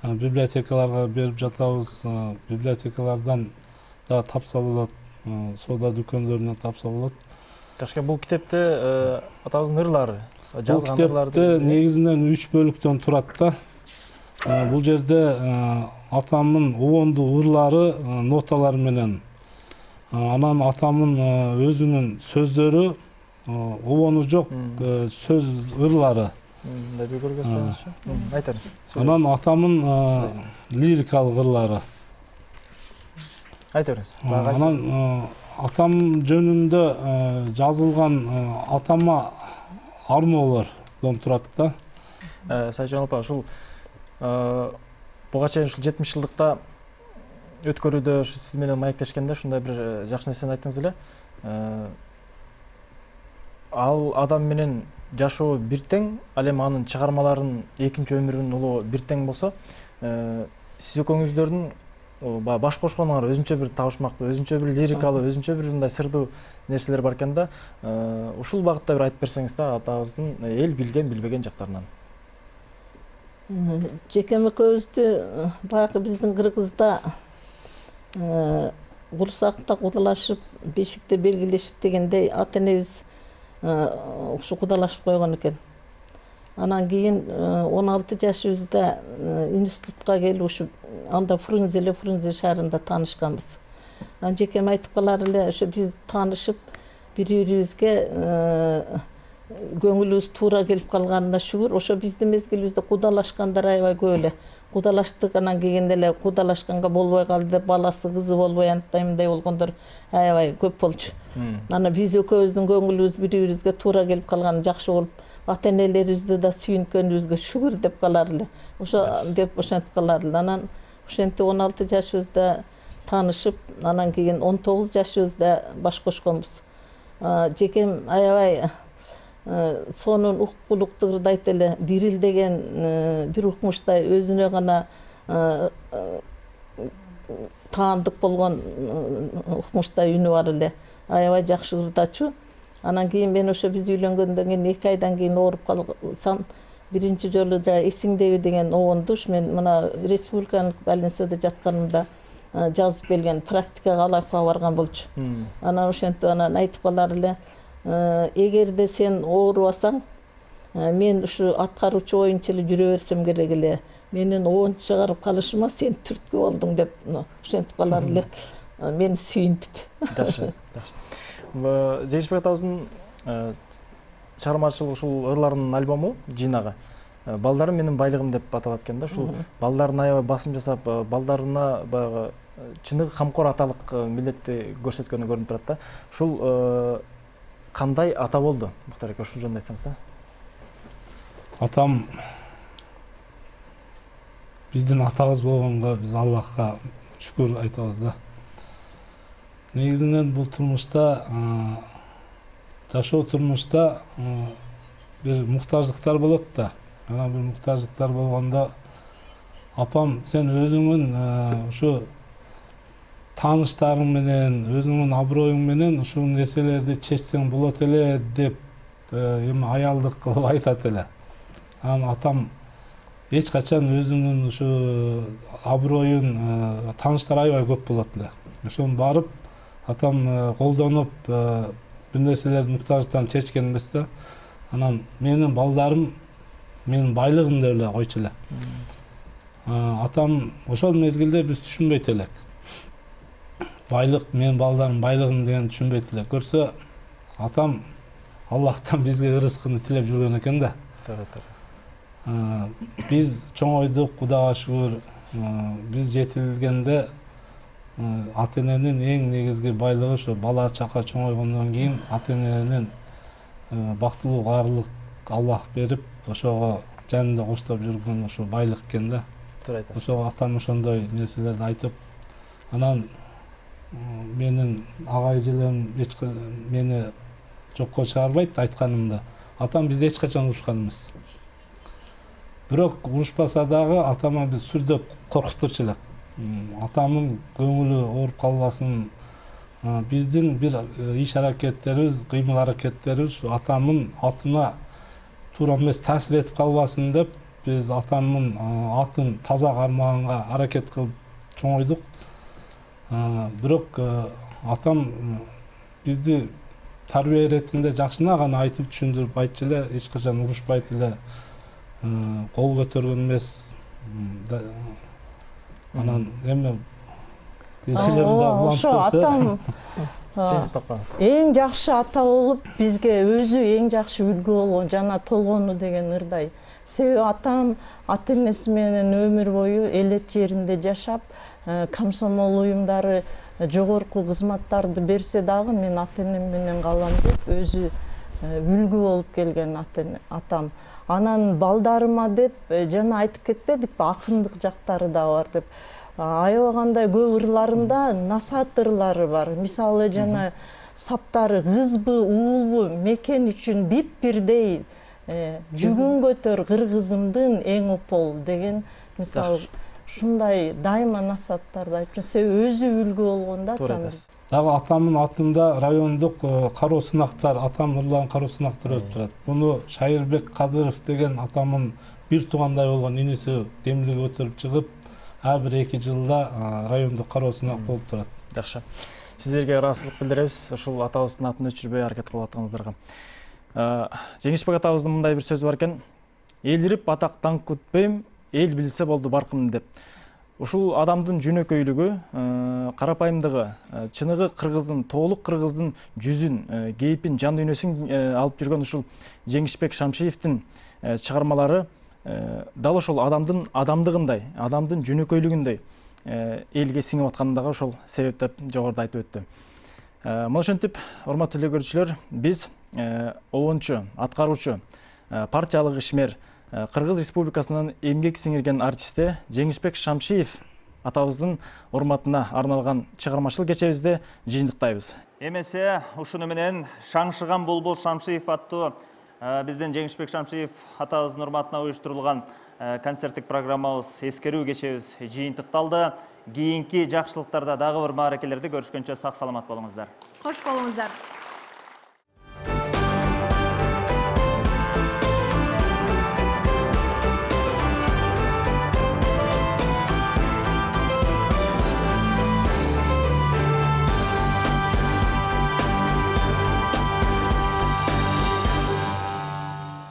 библиотекаларга берип жатабыз. Библиотекалардан да тапса болот, соода дүкөндөрүнөн тапса болот. Жакшы, бул китепте атабыздын ырлары, жазган ырларды китепте негизинен үч бөлүктөн турат да. Бул жерде атамдын обондуу ырлары ноталар менен, анан атамдын өзүнүн сөздөрү, обону жок сөз ырлары. Анан атамдын лирикалык ырлары. Айтыңыз. Анан атам жөнүндө жазылган атама арноолордон турат да. Сайжан апа, ушул буга чейин ушул жетимиш жылдыкта өткөрүүдө сиз менен маектешкенде ушундай бир жакшы нерсени айттыңыз эле. Ал адам менен жашоо бир тең, ал эми анын чыгармаларын, экинчи өмүрүнүн улуу бир тең болсо, сиз экөөңүздөрдүн баш кошконуңар өзүнчө бир табышмактуу, өзүнчө бир лирикалуу, өзүнчө бир мындай сырдуу нерселер бар экен да. Ушул багытта бир айтып берсеңиз да, атабыздын эл билген, билбеген жактарынан. Жекем экөөбүздү баягы биздин Кыргызда курсакта кудалашып, бешикте белгилешип дегендей ата энебиз ушу кудалашып койгон экен. Анан кийин он алты жашыбызда институтка келип ушу анда Фрунзе эле Фрунзе шаарында таанышканбыз. Анан жекем айтып калар эле, ошо биз таанышып бири-бирибизге көңүлүбүз туура келип калганына шүгүр. Ошо биздин мезгилибизде кудалашкандар аябай көп эле. Кудалаштык, анан кийин эле кудалашканга болбой калды деп баласы кызы болбой анттай мындай болгондор аябай көп болчу. Анан биз экөөбүздүн көңүлүбүз бири-бирибизге туура келип калганы жакшы болуп, ата энелерибизди да сүйүнткөнүбүзгө шүгүр деп калар эле. Ошо деп ошентип калар эле. Анан ошентип он алты жашыбызда таанышып, анан кийин он тогуз жашыбызда баш кошконбуз. Жекем аябай сонун уккулуктурду айт эле, дирилдеген бир укмуштай өзүнө гана таандык болгон укмуштай үнү бар эле. Аябай жакшы ырдачу. Анан кийин мен ошо биз үйлөнгөндөн кийин эки айдан кийин ооруп калсам, биринчи жолу эсиңдеби деген обонду мен мына республикалык больницада жатканымда жазып келген, практикага алакка барган болчу. Анан ошентип анан айтып калар эле, эгерде сен оорубасаң, мен ушу аткаруучу оюнчу эле жүрө берсем керек эле. Менин обонду чыгарып калышыма сен түрткү болдуң деп ошентип калар эле. Мени сүйүнтүп. Жакшы, жакшы. Жеңишбек атабыздын чыгармачылык ушул ырларынын альбому, жыйнагы балдарым менин байлыгым деп аталат экен да. Ушул балдарына аябай басым жасап, балдарына баягы чыныгы камкор аталык милдетти көрсөткөнү көрүнүп турат да. Ушул кандай ата болду? Муктар эке, ушул жөнүндө айтсаңыз да. Атам биздин атабыз болгонго биз Аллахка шүкүр айтабыз да. Негизинен бул турмушта, жашоо турмушта бир муктаждыктар болот да. Анан бир муктаждыктар болгондо апам сен өзүңүн ушу тааныштарың менен, өзүңүн аброюң менен ушул нерселерди чечсең болот эле деп эми аялдык кылып айтат эле. Анан атам эч качан өзүнүн ушу аброюн, тааныштар аябай көп болот эле. Ошону барып атам колдонуп бир нерселерди муктаждыктан чечкен эмес да. Анан менин балдарым менин байлыгым деп эле койчу эле. Атам ошол мезгилде биз түшүнбөйт элек. Байлык менин балдарым байлыгым деген түшүнбөйт эле. Көрсө атам Аллахтан бизге ырыскыны тилеп жүргөн экен да. Биз чоңойдук, Кудайга шүгүр. Биз жетилгенде ата эненин эң негизги байлыгы ошо бала чака чоңойгондон кийин ата эненин бактылуу каарлык Аллах берип, ошого жанында коштоп жүргөн ошо байлык экен да. Ошого атам ошондой нерселерди айтып, анан менин ага эжелерим эч мени жокко чыгарбайт айтканымда. Атам бизди эч качан урушкан эмес. Бирок урушпаса дагы атама биз сүрдөп коркуттурчу элек. Атамдын көңүлү ооруп калбасын, биздин бир иш аракеттерибиз, кыймыл аракеттерибиз атамдын атына туура эмес таасир этип калбасын деп биз атамдын атын таза кармаганга аракет кылып чоңойдук. Бирок атам бизди тарбия иретинде жакшына гана айтып түшүндүрүп айтчу эле, эч качан урушпайт эле, кол көтөргөн эмес. Анан эми ошо атам эң жакшы ата болуп бизге өзү эң жакшы үлгү болгон жана толгону деген ырдай. Себеби атам ата энеси менен өмүр бою элет жеринде жашап, комсомол уюмдары жогорку кызматтарды берсе дагы мен ата энем менен калам деп өзү үлгү болуп келген атам. Анан балдарыма деп жана айтып кетпедикпи, акындык жактары да бар деп. Аябагандай көп ырларында насаат ырлары бар. Мисалы жана саптары кызбы, уулбу, мекен үчүн бип бирдей жүгүн көтөр кыргызымдын эң опол деген мисалы ушундай дайыма насааттарды айтып, себеби өзү үлгү болгондо атам. Дагы атамдын атында райондук кароо сынактар, атам ырлаган кароо сынактар өтүп турат. Буну Шайырбек Кадыров деген атамдын бир туугандай болгон иниси демилге көтөрүп чыгып, ар бир эки жылда райондук кароо сынак болуп турат. Жакшы. Сиздерге ыраазычылык билдиребиз ушул атабыздын атын өчүрбөй аракет кылып атканыңыздарга. Жеңишбек атабыздын мындай бир сөзү бар экен: "Элирип атак даңк күтпөйм, эл билсе болду баркым" деп. Ушул адамдын жөнөкөйлүгү, карапайымдыгы, чыныгы кыргыздын, толук кыргыздын жүзүн, кейпин, жан дүйнөсүн алып жүргөн ушул Жеңишбек Шамшиевдин чыгармалары дал ошол адамдын адамдыгындай, адамдын жөнөкөйлүгүндөй элге сиңип атканы дагы ошол себеп деп жогоруда айтып өттү. Мына ошентип, урматтуу эле көрүүчүлөр, биз обончу, аткаруучу, партиялык ишмер, Кыргыз Республикасынын эмгек сиңирген артисти Жеңишбек Шамшиев атабыздын урматына арналган чыгармачыл кечебизде жыйынтыктайбыз. Эмесе ушуну менен Шаңшыган булбул Шамшиев аттуу биздин Жеңишбек Шамшиев атабыздын урматына уюштурулган концерттик программабыз, эскерүү кечебиз жыйынтыкталды. Кийинки жакшылыктарда дагы бир мааракелерде көрүшкөнчө сак саламат болуңуздар. Кош болуңуздар.